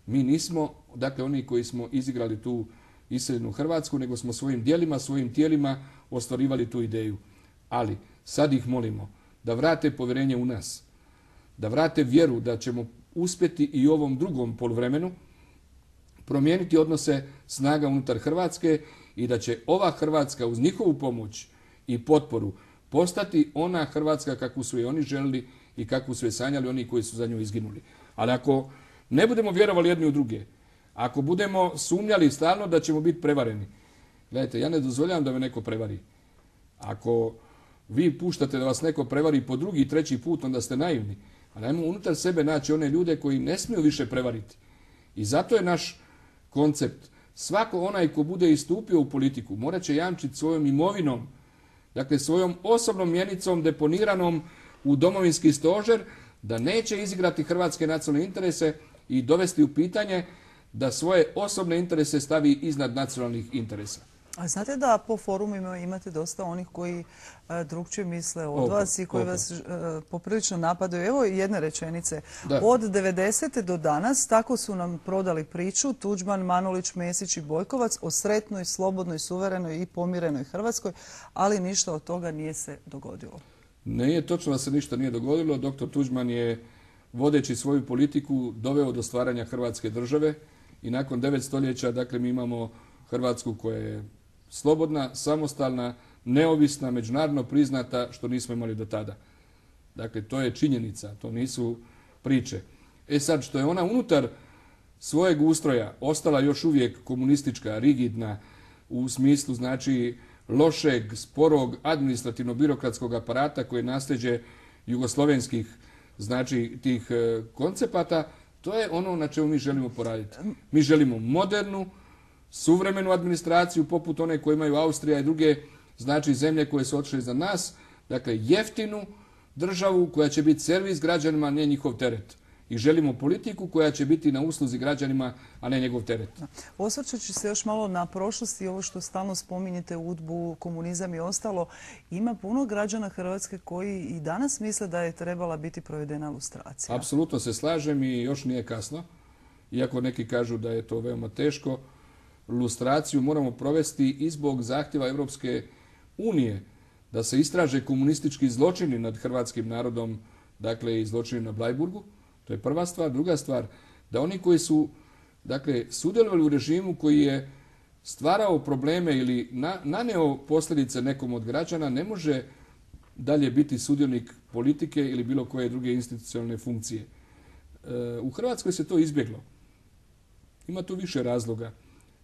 Mi nismo, dakle, oni koji smo izigrali tu iseljenu Hrvatsku, nego smo svojim djelima, svojim tijelima ostvarivali tu ideju. Ali sad ih molimo da vrate povjerenje u nas, da vrate vjeru da ćemo uspjeti i u ovom drugom poluvremenu promijeniti odnose snaga unutar Hrvatske i da će ova Hrvatska uz njihovu pomoć i potporu postati ona Hrvatska kakvu su i oni želili i kakvu su je sanjali oni koji su za nju izginuli. Ali ako ne budemo vjerovali jedni u druge, ako budemo sumnjali stalno da ćemo biti prevareni, gledajte, ja ne dozvoljavam da me neko prevari. Ako vi puštate da vas neko prevari po drugi i treći put, onda ste naivni. Ali ajmo unutar sebe naći one ljude koji ne smiju više prevariti. I zato je naš koncept, svako onaj ko bude istupio u politiku morat će jamčiti svojom imovinom, dakle svojom osobnom mjenicom deponiranom u domovinski stožer, da neće izigrati hrvatske nacionalne interese i dovesti u pitanje da svoje osobne interese stavi iznad nacionalnih interesa. A znate da po forumima imate dosta onih koji a, drugčije misle od Opa, vas i koji opa. vas a, poprilično napadaju. Evo jedne rečenice. Da. Od devedesete do danas tako su nam prodali priču Tuđman, Manulić, Mesić i Bojkovac o sretnoj, slobodnoj, suverenoj i pomirenoj Hrvatskoj, ali ništa od toga nije se dogodilo. Nije točno da se ništa nije dogodilo. Doktor Tuđman je, vodeći svoju politiku, doveo do stvaranja Hrvatske države i nakon devet stoljeća, dakle, mi imamo Hrvatsku koja je slobodna, samostalna, neovisna, međunarodno priznata, što nismo imali do tada. Dakle, to je činjenica, to nisu priče. E sad, što je ona unutar svojeg ustroja ostala još uvijek komunistička, rigidna, u smislu, znači, lošeg, sporog, administrativno-birokratskog aparata koje je nasljeđe jugoslovenskih, znači, tih e, koncepata, to je ono na čemu mi želimo poraditi. Mi želimo modernu, suvremenu administraciju poput one koje imaju Austrija i druge, znači zemlje koje su otišle za nas, Dakle, jeftinu državu koja će biti servis građanima, a ne njihov teret. I želimo politiku koja će biti na usluzi građanima, a ne njegov teret. Osvrćući se još malo na prošlost i ovo što stalno spominjete, udbu, komunizam i ostalo, ima puno građana Hrvatske koji i danas misle da je trebala biti provedena lustracija. Apsolutno se slažem i još nije kasno. Iako neki kažu da je to veoma teško, lustraciju moramo provesti i zbog zahtjeva Europske unije da se istraže komunistički zločini nad hrvatskim narodom, dakle i zločini na Bleiburgu. To je prva stvar. Druga stvar, da oni koji su dakle, sudjelovali u režimu koji je stvarao probleme ili na, naneo posljedice nekom od građana, ne može dalje biti sudionik politike ili bilo koje druge institucionalne funkcije. E, u Hrvatskoj se to izbjeglo. Ima tu više razloga.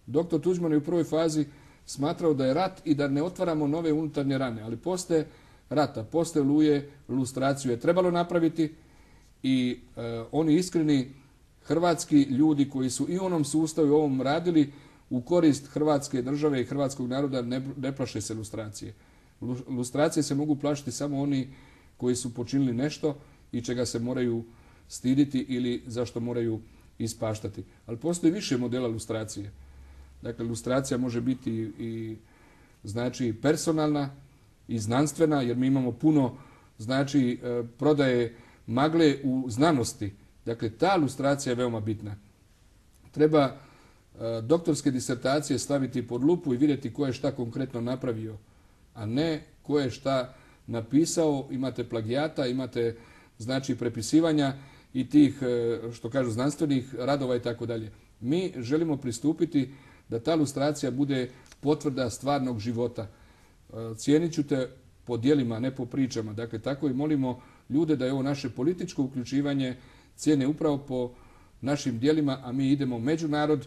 Doktor Tuđman je u prvoj fazi smatrao da je rat i da ne otvaramo nove unutarnje rane, ali poslije rata, poslije Oluje, lustraciju je trebalo napraviti i e, oni iskreni hrvatski ljudi koji su i u onom sustavu i ovom radili u korist Hrvatske države i hrvatskog naroda ne, ne plaše se lustracije. Lustracije se mogu plašiti samo oni koji su počinili nešto i čega se moraju stiditi ili zašto moraju ispaštati. Ali postoji više modela lustracije. Dakle, lustracija može biti i znači personalna i znanstvena, jer mi imamo puno znači prodaje magle u znanosti. Dakle, ta lustracija je veoma bitna. Treba e, doktorske disertacije staviti pod lupu i vidjeti ko je šta konkretno napravio, a ne ko je šta napisao. Imate plagijata, imate znači prepisivanja i tih, e, što kažu, znanstvenih radova i tako dalje. Mi želimo pristupiti da ta lustracija bude potvrda stvarnog života. E, cijenit ću te po djelima, ne po pričama. Dakle, tako i molimo ljude da je ovo naše političko uključivanje cijene upravo po našim djelima, a mi idemo među narod,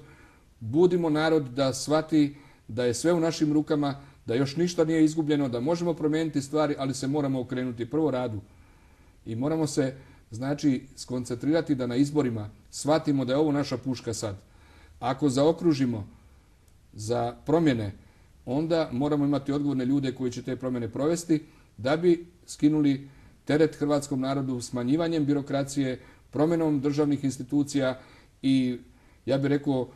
budimo narod da shvati da je sve u našim rukama, da još ništa nije izgubljeno, da možemo promijeniti stvari, ali se moramo okrenuti prvo radu. I moramo se, znači, skoncentrirati da na izborima shvatimo da je ovo naša puška sad. Ako zaokružimo za promjene, onda moramo imati odgovorne ljude koji će te promjene provesti da bi skinuli teret hrvatskom narodu smanjivanjem birokracije, promjenom državnih institucija i, ja bih rekao,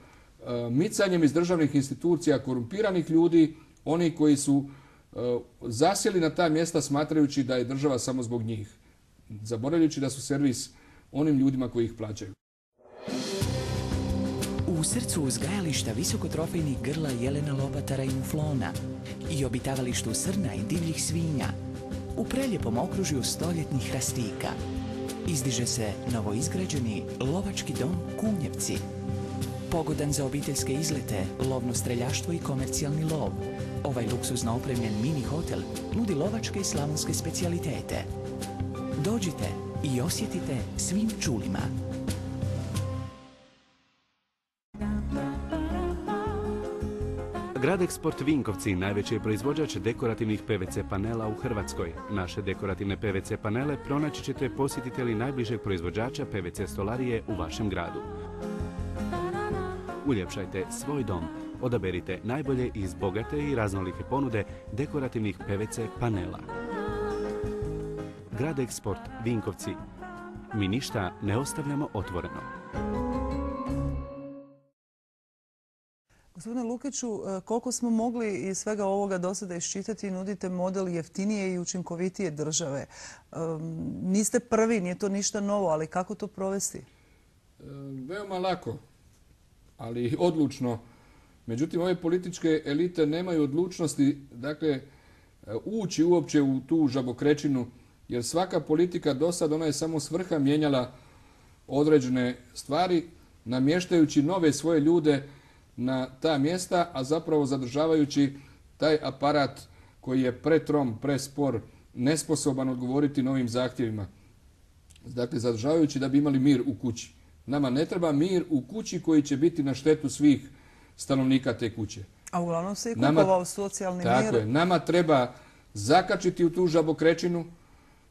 micanjem iz državnih institucija korumpiranih ljudi, oni koji su zasjeli na ta mjesta smatrajući da je država samo zbog njih, zaboravljajući da su servis onim ljudima koji ih plaćaju. U srcu uzgajališta visokotrofejnih grla jelena, lobatara i muflona i obitavalištu srna i divljih svinja, u preljepom okružju stoljetnih hrastika, izdiže se novoizgrađeni lovački dom Kunjevci. Pogodan za obiteljske izlete, lovno streljaštvo i komercijalni lov, ovaj luksuzno opremljen mini hotel nudi lovačke i slavonske specijalitete. Dođite i osjetite svim čulima. Gradeksport Vinkovci najveći je proizvođač dekorativnih P V C panela u Hrvatskoj. Naše dekorativne P V C panele pronaći ćete posjetitelji najbližeg proizvođača P V C stolarije u vašem gradu. Uljepšajte svoj dom. Odaberite najbolje iz bogate i raznolike ponude dekorativnih P V C panela. Gradeksport Vinkovci. Mi ništa ne ostavljamo otvoreno. Gospodine Lukiću, koliko smo mogli iz svega ovoga do sada iščitati, nudite model jeftinije i učinkovitije države. Niste prvi, nije to ništa novo, ali kako to provesti? Veoma lako, ali odlučno. Međutim, ove političke elite nemaju odlučnosti, dakle, ući uopće u tu žabokrečinu, jer svaka politika do sad, ona je samo s vrha mijenjala određene stvari, namještajući nove svoje ljude na ta mjesta, a zapravo zadržavajući taj aparat koji je pretrom, prespor, nesposoban odgovoriti novim zahtjevima. Dakle, zadržavajući da bi imali mir u kući. Nama ne treba mir u kući koji će biti na štetu svih stanovnika te kuće. A uglavnom se i kupovao socijalni mir. Tako je. Nama treba zakačiti u tu žabokrečinu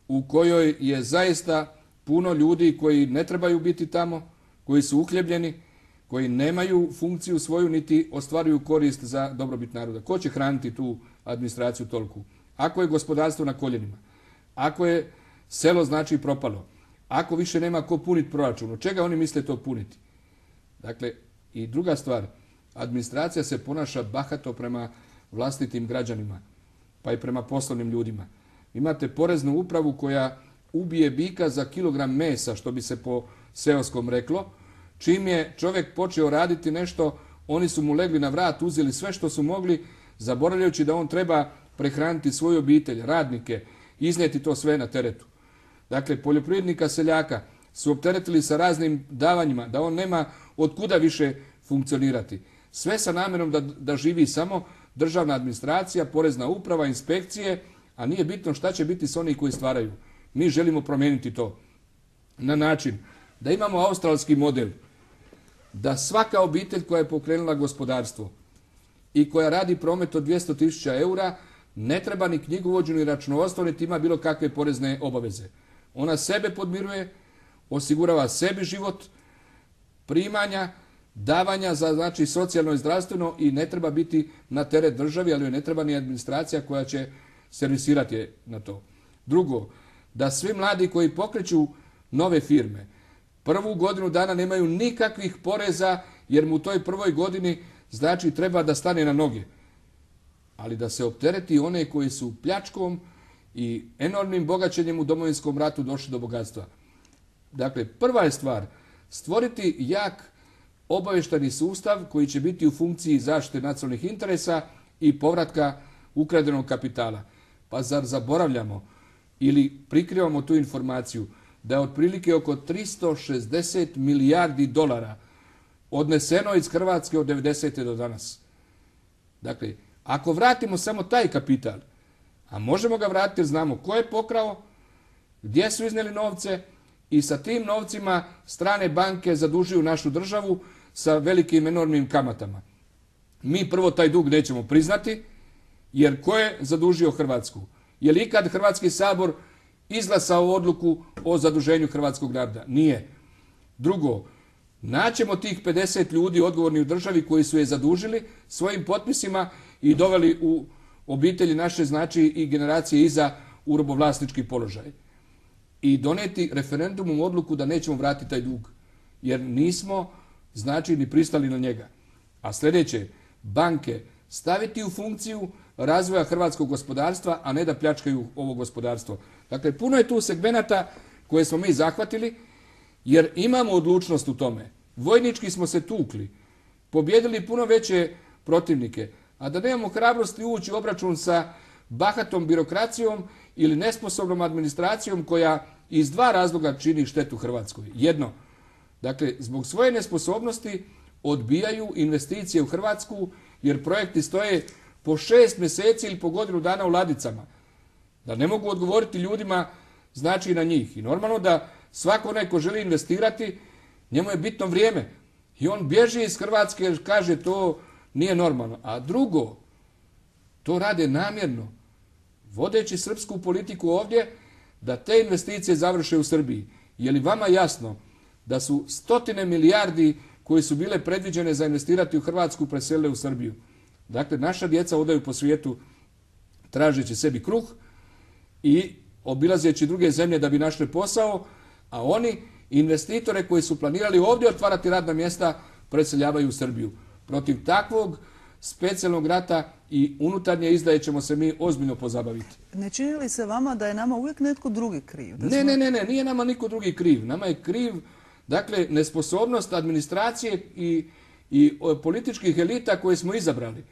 u kojoj je zaista puno ljudi koji ne trebaju biti tamo, koji su uhljebljeni, koji nemaju funkciju svoju niti ostvaruju korist za dobrobit naroda. Ko će hraniti tu administraciju toliku? ako je gospodarstvo na koljenima, ako je selo znači propalo, ako više nema ko puniti proračun, od čega oni misle to puniti? Dakle, i druga stvar, administracija se ponaša bahato prema vlastitim građanima, pa i prema poslovnim ljudima. Imate poreznu upravu koja ubije bika za kilogram mesa, što bi se po seoskom reklo. Čim je čovjek počeo raditi nešto, oni su mu legli na vrat, uzeli sve što su mogli, zaboravljajući da on treba prehraniti svoju obitelj, radnike, iznijeti to sve na teretu. Dakle, poljoprivrednika, seljaka su opteretili sa raznim davanjima, da on nema od kuda više funkcionirati. Sve sa namjerom da, da živi samo državna administracija, porezna uprava, inspekcije, a nije bitno šta će biti s onih koji stvaraju. Mi želimo promijeniti to na način da imamo australski model, da svaka obitelj koja je pokrenula gospodarstvo i koja radi promet od dvjesto tisuća eura ne treba ni knjigovođu ni računovodstvo, niti ima bilo kakve porezne obaveze. Ona sebe podmiruje, osigurava sebi život, primanja, davanja za znači socijalno i zdravstveno i ne treba biti na teret državi, ali joj ne treba ni administracija koja će servisirati je na to. Drugo, da svi mladi koji pokreću nove firme prvu godinu dana nemaju nikakvih poreza jer mu u toj prvoj godini znači treba da stane na noge. Ali da se optereti one koji su pljačkom i enormnim bogaćenjem u Domovinskom ratu došli do bogatstva. Dakle, prva je stvar stvoriti jak obavještajni sustav koji će biti u funkciji zaštite nacionalnih interesa i povratka ukradenog kapitala. Pa zar zaboravljamo ili prikrivamo tu informaciju da je otprilike oko tristo šezdeset milijardi dolara odneseno iz Hrvatske od devedesete do danas. Dakle, ako vratimo samo taj kapital, a možemo ga vratiti jer znamo ko je pokrao, gdje su iznijeli novce i sa tim novcima strane banke zadužuju našu državu sa velikim enormnim kamatama. Mi prvo taj dug nećemo priznati, jer ko je zadužio Hrvatsku? Je li ikad Hrvatski sabor izglasao odluku o zaduženju hrvatskog naroda? Nije. Drugo, naćemo tih pedeset ljudi odgovorni u državi koji su je zadužili svojim potpisima i doveli u obitelji naše znači i generacije iza u robovlasnički položaj. I doneti referendumom odluku da nećemo vratiti taj dug. Jer nismo znači ni pristali na njega. A sljedeće, banke staviti u funkciju razvoja hrvatskog gospodarstva, a ne da pljačkaju ovo gospodarstvo. Dakle, puno je tu segmenata koje smo mi zahvatili, jer imamo odlučnost u tome. Vojnički smo se tukli, pobjedili puno veće protivnike, a da nemamo hrabrosti ući u obračun sa bahatom birokracijom ili nesposobnom administracijom koja iz dva razloga čini štetu Hrvatskoj. Jedno, dakle, zbog svoje nesposobnosti odbijaju investicije u Hrvatsku, jer projekti stoje po šest mjeseci ili po godinu dana u ladicama. Da ne mogu odgovoriti ljudima znači na njih. I normalno da svako onaj ko želi investirati, njemu je bitno vrijeme. I on bježi iz Hrvatske jer kaže to nije normalno. A drugo, to rade namjerno, vodeći srpsku politiku ovdje, da te investicije završe u Srbiji. Je li vama jasno da su stotine milijardi koje su bile predviđene za investirati u Hrvatsku preselile u Srbiju? Dakle, naša djeca odaju po svijetu tražeći sebi kruh i obilazeći druge zemlje da bi našli posao, a oni investitore koji su planirali ovdje otvarati radna mjesta preseljavaju u Srbiju. Protiv takvog specijalnog rata i unutarnje izdaje ćemo se mi ozbiljno pozabaviti. Ne čini li se vama da je nama uvijek netko drugi kriv? Da ne, smo... ne, ne, ne, nije nama niko drugi kriv. Nama je kriv, dakle, nesposobnost administracije i, i političkih elita koje smo izabrali.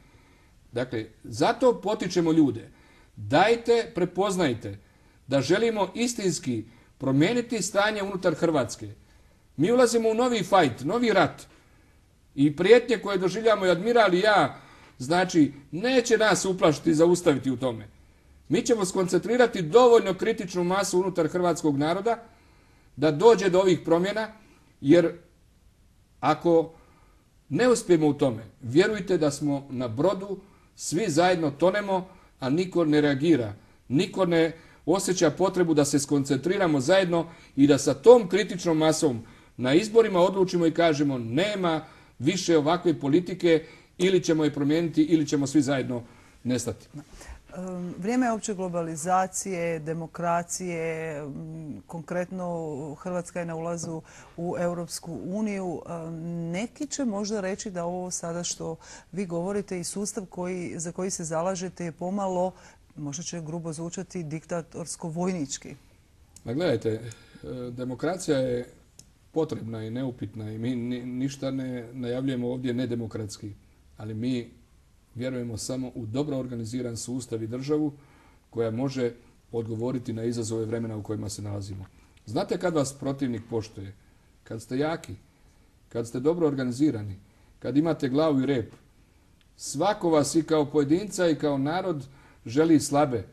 Dakle, zato potičemo ljude. Dajte, prepoznajte da želimo istinski promijeniti stanje unutar Hrvatske. Mi ulazimo u novi fajt, novi rat. I prijetnje koje doživljamo i admiral i ja, znači, neće nas uplašiti i zaustaviti u tome. Mi ćemo skoncentrirati dovoljno kritičnu masu unutar hrvatskog naroda da dođe do ovih promjena, jer ako ne uspijemo u tome, vjerujte da smo na brodu, svi zajedno tonemo, a niko ne reagira. Niko ne osjeća potrebu da se skoncentriramo zajedno i da sa tom kritičnom masom na izborima odlučimo i kažemo nema više ovakve politike, ili ćemo je promijeniti ili ćemo svi zajedno nestati. Vrijeme je opće globalizacije, demokracije, konkretno Hrvatska je na ulazu u Europsku uniju. Neki će možda reći da ovo sada što vi govorite i sustav koji, za koji se zalažete je pomalo, možda će grubo zvučati, diktatorsko-vojnički. Ma gledajte, demokracija je potrebna i neupitna i mi ništa ne najavljujemo ovdje nedemokratski, ali mi vjerujemo samo u dobro organiziran sustav i državu koja može odgovoriti na izazove vremena u kojima se nalazimo. Znate kad vas protivnik poštuje? Kad ste jaki, kad ste dobro organizirani, kad imate glavu i rep. Svako vas i kao pojedinca i kao narod želi slabe,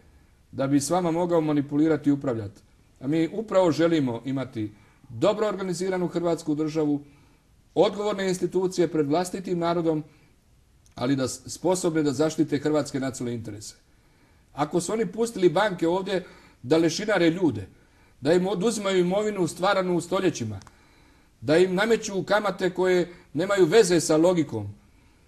da bi s vama mogao manipulirati i upravljati. A mi upravo želimo imati dobro organiziranu Hrvatsku državu, odgovorne institucije pred vlastitim narodom, ali da sposobne da zaštite hrvatske nacionalne interese. Ako su oni pustili banke ovdje da lešinare ljude, da im oduzimaju imovinu stvaranu u stoljećima, da im nameću kamate koje nemaju veze sa logikom,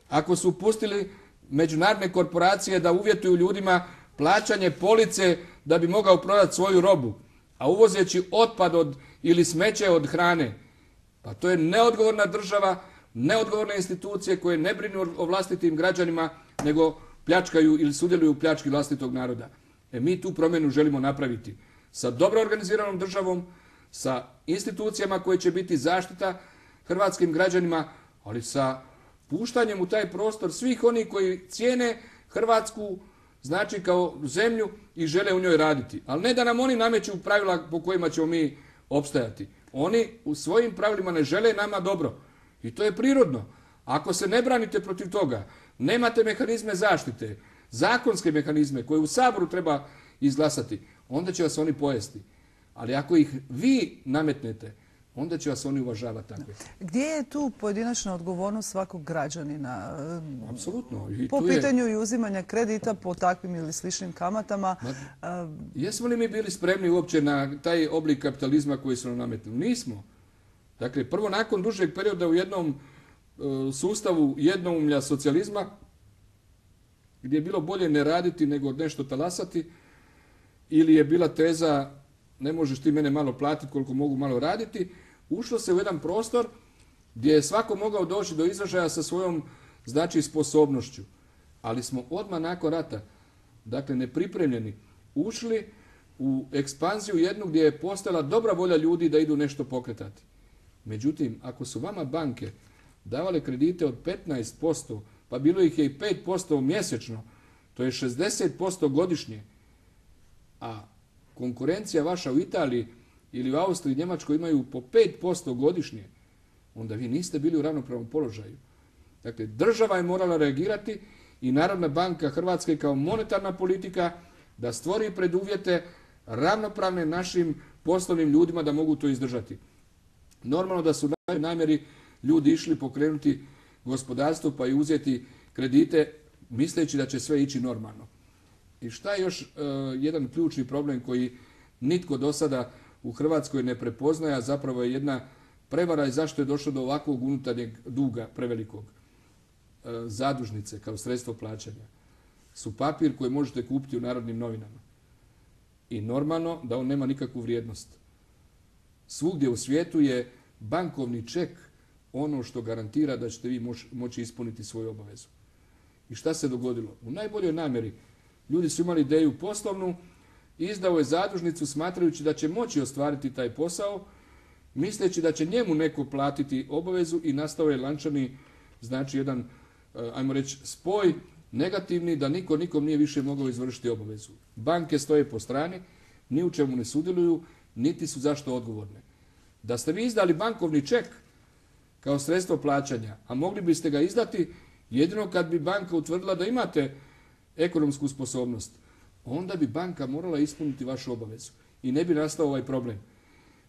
ako su pustili međunarodne korporacije da uvjetuju ljudima plaćanje police da bi mogao prodati svoju robu, a uvozeći otpad od, ili smeće od hrane, pa to je neodgovorna država, neodgovorne institucije koje ne brinu o vlastitim građanima, nego pljačkaju ili sudjeluju u pljački vlastitog naroda. E mi tu promjenu želimo napraviti sa dobro organiziranom državom, sa institucijama koje će biti zaštita hrvatskim građanima, ali sa puštanjem u taj prostor svih onih koji cijene Hrvatsku, znači kao zemlju i žele u njoj raditi. Ali ne da nam oni nameću pravila po kojima ćemo mi opstajati. Oni u svojim pravilima ne žele nama dobro. I to je prirodno. Ako se ne branite protiv toga, nemate mehanizme zaštite, zakonske mehanizme koje u Saboru treba izglasati, onda će vas oni pojesti. Ali ako ih vi nametnete, onda će vas oni uvažavati takve. Gdje je tu pojedinačna odgovornost svakog građanina? Apsolutno. I po pitanju je... i uzimanja kredita po takvim ili sličnim kamatama. Ma, jesmo li mi bili spremni uopće na taj oblik kapitalizma koji su nam nametnuli? Nismo. Dakle, prvo nakon dužeg perioda u jednom uh, sustavu jednoumlja socijalizma, gdje je bilo bolje ne raditi nego nešto talasati, ili je bila teza ne možeš ti mene malo platiti koliko mogu malo raditi, ušlo se u jedan prostor gdje je svako mogao doći do izražaja sa svojom, znači, sposobnošću. Ali smo odmah nakon rata, dakle nepripremljeni, ušli u ekspanziju jednu gdje je postojala dobra volja ljudi da idu nešto pokretati. Međutim, ako su vama banke davale kredite od petnaest posto, pa bilo ih je i pet posto mjesečno, to je šezdeset posto godišnje, a konkurencija vaša u Italiji ili u Austriji i Njemačkoj imaju po pet posto godišnje, onda vi niste bili u ravnopravnom položaju. Dakle, država je morala reagirati i Narodna banka Hrvatske kao monetarna politika da stvori preduvjete ravnopravne našim poslovnim ljudima da mogu to izdržati. Normalno da su na namjeri ljudi išli pokrenuti gospodarstvo pa i uzeti kredite misleći da će sve ići normalno. I šta je još uh, jedan ključni problem koji nitko do sada u Hrvatskoj ne prepoznaje, a zapravo je jedna prevara i zašto je došlo do ovakvog unutarnjeg duga prevelikog. Uh, zadužnice kao sredstvo plaćanja su papir koji možete kupiti u Narodnim novinama. I normalno da on nema nikakvu vrijednost. Svugdje u svijetu je bankovni ček ono što garantira da ćete vi moć, moći ispuniti svoju obavezu. I šta se dogodilo? U najboljoj namjeri ljudi su imali ideju poslovnu, izdao je zadužnicu smatrajući da će moći ostvariti taj posao, misleći da će njemu neko platiti obavezu i nastao je lančani, znači jedan, ajmo reći, spoj negativni da niko nikom nije više mogao izvršiti obavezu. Banke stoje po strani, ni u čemu ne sudjeluju, niti su zašto odgovorne. Da ste vi izdali bankovni ček kao sredstvo plaćanja, a mogli biste ga izdati jedino kad bi banka utvrdila da imate ekonomsku sposobnost, onda bi banka morala ispuniti vašu obavezu i ne bi nastao ovaj problem.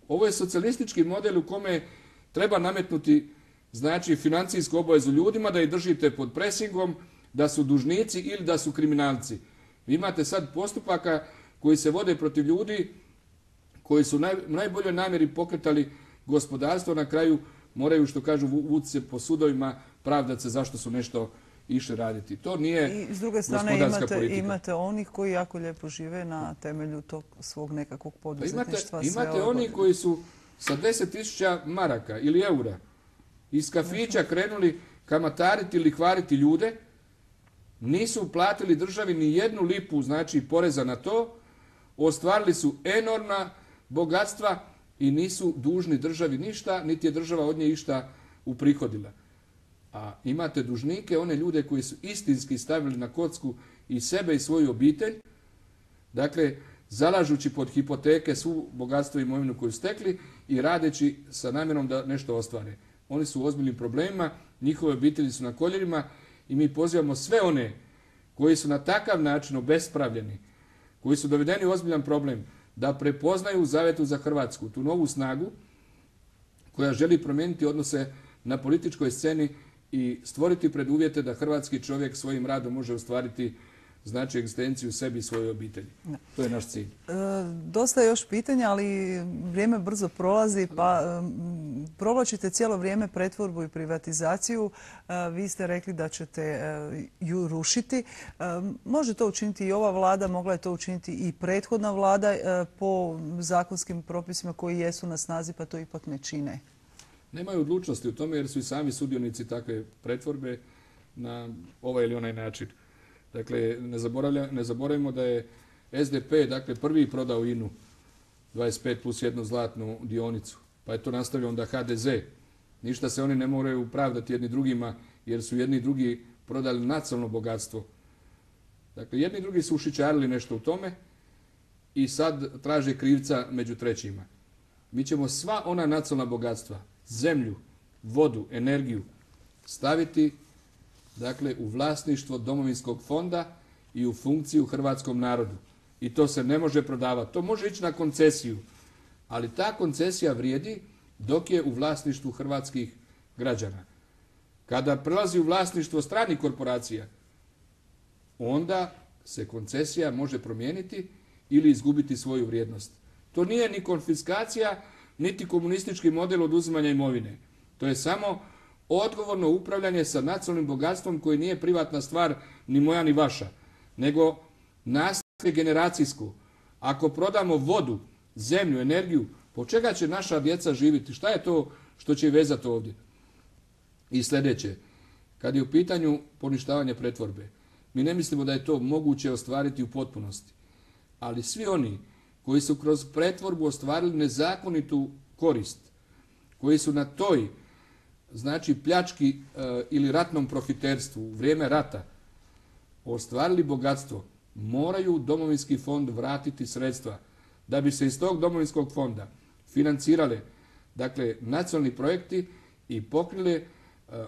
Ovo je socijalistički model u kome treba nametnuti, znači, financijsku obavezu ljudima da ih držite pod presingom, da su dužnici ili da su kriminalci. Vi imate sad postupaka koji se vode protiv ljudi koji su naj, najboljoj namjeri pokretali gospodarstvo, na kraju moraju, što kažu, vući se po sudovima, pravdati se zašto su nešto išli raditi. To nije I s druge strane gospodarska imate, politika. imate onih koji jako lijepo žive na temelju tog svog nekakvog Pa poduzetništva. imate, sve imate ove oni godine. koji su sa deset tisuća maraka ili eura iz kafića krenuli kamatariti ili lihvariti ljude, nisu platili državi ni jednu lipu, znači poreza na to, ostvarili su enormna bogatstva i nisu dužni državi ništa, niti je država od nje išta uprihodila. A imate dužnike, one ljude koji su istinski stavili na kocku i sebe i svoju obitelj, dakle, zalažući pod hipoteke svu bogatstvo i imovinu koju stekli i radeći sa namjerom da nešto ostvare. Oni su u ozbiljnim problemima, njihove obitelji su na koljenima i mi pozivamo sve one koji su na takav način obespravljeni, koji su dovedeni u ozbiljan problem, da prepoznaju u Zavetu za Hrvatsku tu novu snagu koja želi promijeniti odnose na političkoj sceni i stvoriti preduvjete da hrvatski čovjek svojim radom može ostvariti znači egzistenciju sebi i svojoj obitelji. Da. To je naš cilj. E, dosta je još pitanja, ali vrijeme brzo prolazi, pa um, provlačite cijelo vrijeme pretvorbu i privatizaciju. E, vi ste rekli da ćete e, ju rušiti. E, može to učiniti i ova vlada, mogla je to učiniti i prethodna vlada e, po zakonskim propisima koji jesu na snazi, pa to ipak ne čine. Nemaju odlučnosti u tome jer su i sami sudionici takve pretvorbe na ovaj ili onaj način. Dakle, ne, ne zaboravimo da je S D P dakle, prvi prodao I N U dvadeset pet plus jednu zlatnu dionicu, pa je to nastavio onda H D Z. Ništa se oni ne moraju pravdati jedni drugima jer su jedni i drugi prodali nacionalno bogatstvo. Dakle, jedni i drugi su ušićarili nešto u tome i sad traže krivca među trećima. Mi ćemo sva ona nacionalna bogatstva, zemlju, vodu, energiju staviti dakle, u vlasništvo Domovinskog fonda i u funkciju hrvatskom narodu. I to se ne može prodavati. To može ići na koncesiju, ali ta koncesija vrijedi dok je u vlasništvu hrvatskih građana. Kada prelazi u vlasništvo stranih korporacija, onda se koncesija može promijeniti ili izgubiti svoju vrijednost. To nije ni konfiskacija, niti komunistički model oduzimanja imovine. To je samo odgovorno upravljanje sa nacionalnim bogatstvom koji nije privatna stvar ni moja ni vaša, nego nasljeđe generacijsko. Ako prodamo vodu, zemlju, energiju, po čega će naša djeca živjeti? Šta je to što će vezati ovdje? I sljedeće, kad je u pitanju poništavanje pretvorbe, mi ne mislimo da je to moguće ostvariti u potpunosti, ali svi oni koji su kroz pretvorbu ostvarili nezakonitu korist, koji su na toj znači pljački e, ili ratnom profiterstvu u vrijeme rata ostvarili bogatstvo, moraju u Domovinski fond vratiti sredstva da bi se iz tog Domovinskog fonda financirale dakle, nacionalni projekti i pokrile e,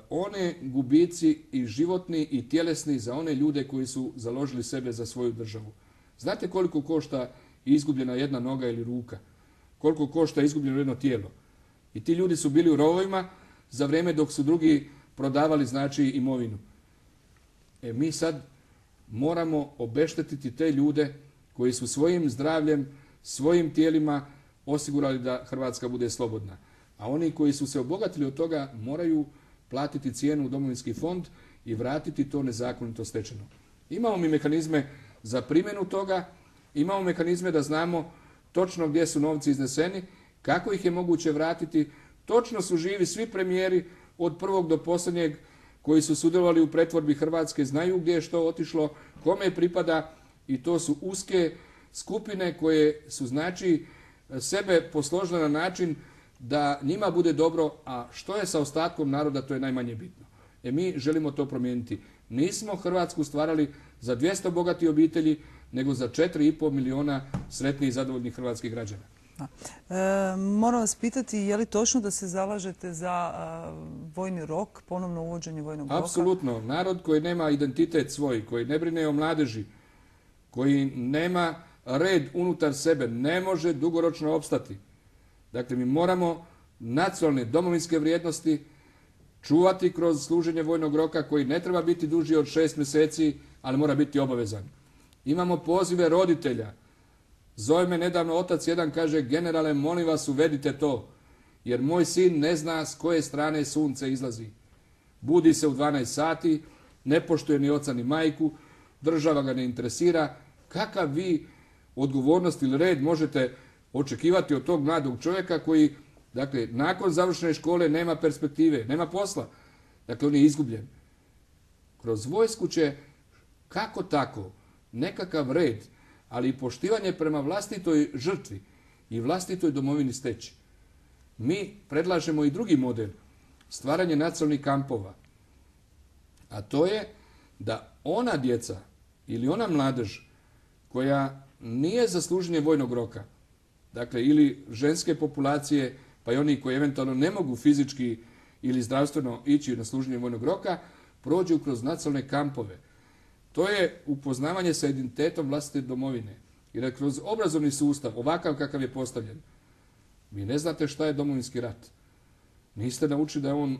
one gubici i životni i tjelesni za one ljude koji su založili sebe za svoju državu. Znate koliko košta izgubljena jedna noga ili ruka? Koliko košta izgubljeno jedno tijelo? I ti ljudi su bili u rovovima za vrijeme dok su drugi prodavali znači imovinu. E mi sad moramo obeštetiti te ljude koji su svojim zdravljem, svojim tijelima osigurali da Hrvatska bude slobodna. A oni koji su se obogatili od toga moraju platiti cijenu u Domovinski fond i vratiti to nezakonito stečeno. Imamo mi mehanizme za primjenu toga, imamo mehanizme da znamo točno gdje su novci izneseni, kako ih je moguće vratiti. Točno su živi svi premijeri od prvog do posljednjeg koji su sudjelovali u pretvorbi Hrvatske, znaju gdje je što otišlo, kome pripada i to su uske skupine koje su znači sebe posložile na način da njima bude dobro, a što je sa ostatkom naroda, to je najmanje bitno. E mi želimo to promijeniti. Nismo Hrvatsku stvarali za dvjesto bogatih obitelji, nego za četiri i pol milijuna sretnih i zadovoljnih hrvatskih građana. E, moram vas pitati, je li točno da se zalažete za a, vojni rok, ponovno uvođenje vojnog roka? Apsolutno. Narod koji nema identitet svoj, koji ne brine o mladeži, koji nema red unutar sebe, ne može dugoročno opstati. Dakle, mi moramo nacionalne domovinske vrijednosti čuvati kroz služenje vojnog roka koji ne treba biti duži od šest mjeseci, ali mora biti obavezan. Imamo pozive roditelja. Zove me nedavno otac jedan, kaže, generale, molim vas, uvedite to, jer moj sin ne zna s koje strane sunce izlazi. Budi se u dvanaest sati, ne poštuje ni oca ni majku, država ga ne interesira. Kakav vi odgovornost ili red možete očekivati od tog mladog čovjeka koji, dakle, nakon završene škole nema perspektive, nema posla. Dakle, on je izgubljen. Kroz vojsku će, kako tako, nekakav red, ali i poštivanje prema vlastitoj žrtvi i vlastitoj domovini steći. Mi predlažemo i drugi model, stvaranje nacionalnih kampova. A to je da ona djeca ili ona mladež koja nije za služenje vojnog roka, dakle ili ženske populacije, pa i oni koji eventualno ne mogu fizički ili zdravstveno ići na služenje vojnog roka, prođu kroz nacionalne kampove. To je upoznavanje sa identitetom vlastite domovine. Jer kroz obrazovni sustav, ovakav kakav je postavljen, vi ne znate šta je Domovinski rat. Niste naučili da je on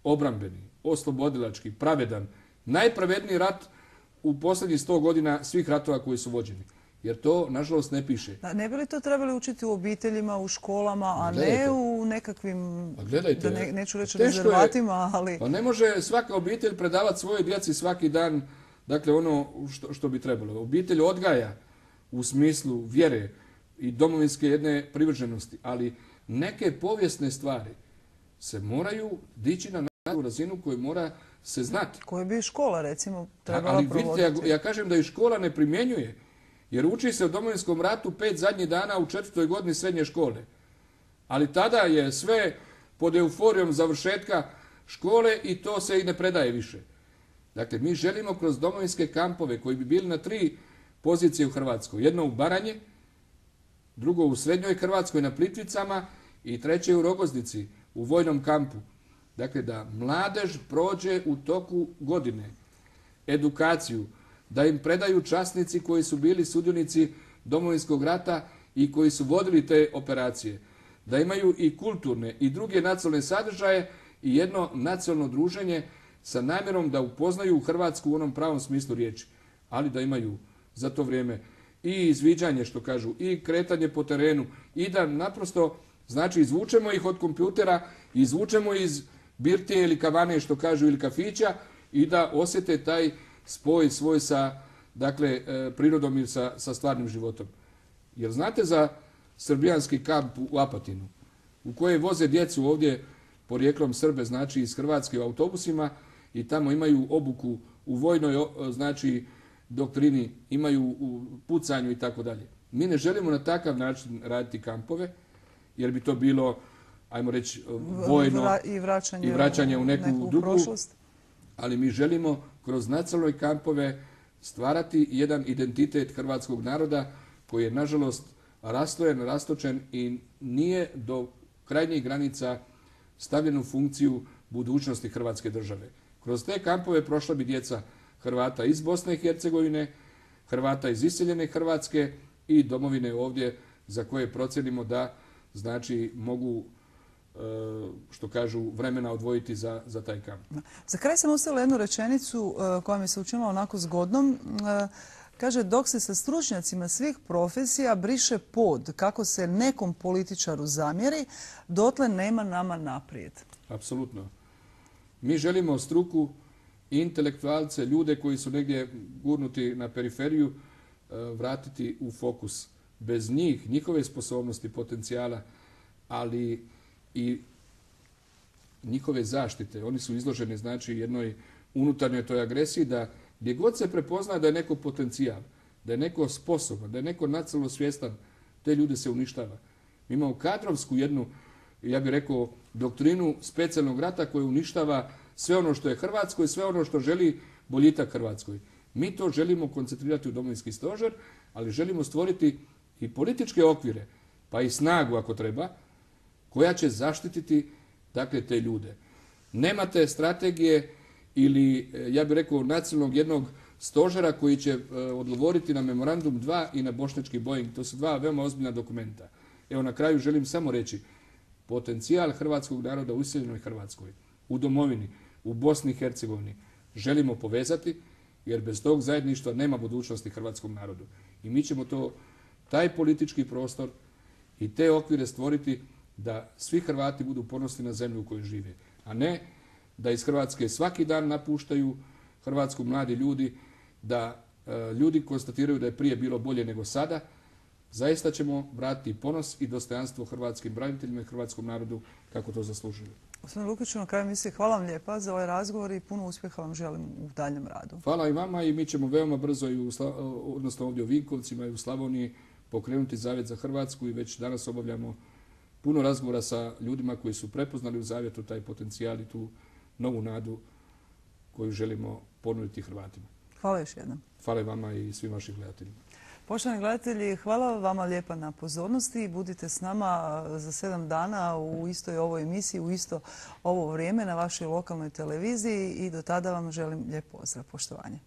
obrambeni, oslobodilački, pravedan, najpravedniji rat u posljednjih sto godina svih ratova koji su vođeni. Jer to, nažalost, ne piše. Da, ne bi li to trebali učiti u obiteljima, u školama, a gledajte, ne u nekakvim, gledajte, da ne, neću reći teško rezervatima, ali... Pa ne može svaka obitelj predavati svojoj djeci svaki dan, dakle, ono što, što bi trebalo. Obitelj odgaja u smislu vjere i domovinske jedne privrženosti, ali neke povijesne stvari se moraju dići na našu razinu koju mora se znati. Koje bi škola, recimo, trebala ali provoditi. vidite, ja, ja kažem da i škola ne primjenjuje, jer uči se o Domovinskom ratu pet zadnjih dana u četvrtoj godini srednje škole. Ali tada je sve pod euforijom završetka škole i to se i ne predaje više. Dakle, mi želimo kroz domovinske kampove koji bi bili na tri pozicije u Hrvatskoj. Jedno u Baranje, drugo u Srednjoj Hrvatskoj na Plitvicama i treće u Rogoznici, u vojnom kampu. Dakle, da mladež prođe u toku godine edukaciju, da im predaju časnici koji su bili sudionici Domovinskog rata i koji su vodili te operacije. Da imaju i kulturne i druge nacionalne sadržaje i jedno nacionalno druženje sa namjerom da upoznaju Hrvatsku u onom pravom smislu riječi. Ali da imaju za to vrijeme i izviđanje, što kažu, i kretanje po terenu i da naprosto, znači, izvučemo ih od kompjutera, izvučemo iz birtije ili kavane, što kažu, ili kafića i da osjete taj spoj svoj sa, dakle, prirodom i sa, sa stvarnim životom. Jer znate za srbijanski kamp u Apatinu, u koje voze djecu ovdje porijeklom Srbe, znači iz Hrvatske u autobusima i tamo imaju obuku u vojnoj, znači, doktrini, imaju u pucanju i tako dalje. Mi ne želimo na takav način raditi kampove, jer bi to bilo, ajmo reći, vojno Vra, i, vraćanje i vraćanje u neku, neku drugu, prošlost. Ali mi želimo kroz nacionalne kampove stvarati jedan identitet hrvatskog naroda koji je, nažalost, rastojen, rastočen i nije do krajnjih granica stavljen u funkciju budućnosti Hrvatske države. Kroz te kampove prošla bi djeca Hrvata iz Bosne i Hercegovine, Hrvata iz iseljene Hrvatske i domovine ovdje za koje procenimo da, znači, mogu, što kažu, vremena odvojiti za, za taj kamp. Za kraj sam ostavila jednu rečenicu koja mi se učinila onako zgodnom. Kaže, dok se sa stručnjacima svih profesija briše pod kako se nekom političaru zamjeri, dotle nema nama naprijed. Apsolutno. Mi želimo struku, intelektualce, ljude koji su negdje gurnuti na periferiju, vratiti u fokus. Bez njih, njihove sposobnosti, potencijala, ali i njihove zaštite. Oni su izloženi, znači, jednoj unutarnjoj toj agresiji da gdje god se prepozna da je neko potencijal, da je neko sposoban, da je neko nacionalno svjestan, te ljude se uništava. Mi imamo kadrovsku jednu, ja bih rekao, doktrinu specijalnog rata koja uništava sve ono što je Hrvatsko i sve ono što želi boljitak Hrvatskoj. Mi to želimo koncentrirati u Domovinski stožer, ali želimo stvoriti i političke okvire, pa i snagu ako treba, koja će zaštititi, dakle, te ljude. Nemate strategije ili, ja bih rekao, nacionalnog jednog stožera koji će odgovoriti na memorandum dva i na bošnjački Boeing. To su dva veoma ozbiljna dokumenta. Evo, na kraju želim samo reći, potencijal hrvatskog naroda u iseljenoj Hrvatskoj, u domovini, u Bosni i Hercegovini želimo povezati, jer bez tog zajedništva nema budućnosti hrvatskom narodu. I mi ćemo to, taj politički prostor i te okvire stvoriti da svi Hrvati budu ponosni na zemlju u kojoj žive, a ne da iz Hrvatske svaki dan napuštaju Hrvatsku, mladi ljudi, da e, ljudi konstatiraju da je prije bilo bolje nego sada, zaista ćemo vratiti ponos i dostojanstvo hrvatskim braniteljima i hrvatskom narodu kako to zaslužuju. Gospodin Lukiću, na kraju emisije, hvala vam lijepa za ovaj razgovor i puno uspjeha vam želim u daljem radu. Hvala i vama i mi ćemo veoma brzo, i u, odnosno ovdje u Vinkovcima i u Slavoniji, pokrenuti Zavjet za Hrvatsku i već danas obavljamo puno razgovora sa ljudima koji su prepoznali u Zavjetu taj potencijal i tu novu nadu koju želimo ponuditi Hrvatima. Hvala još jednom. Hvala i vama i svim vašim gledateljima. Poštovani gledatelji, hvala vama lijepa na pozornosti. Budite s nama za sedam dana u istoj ovoj emisiji, u isto ovo vrijeme na vašoj lokalnoj televiziji i do tada vam želim lijep pozdrav. Poštovanje.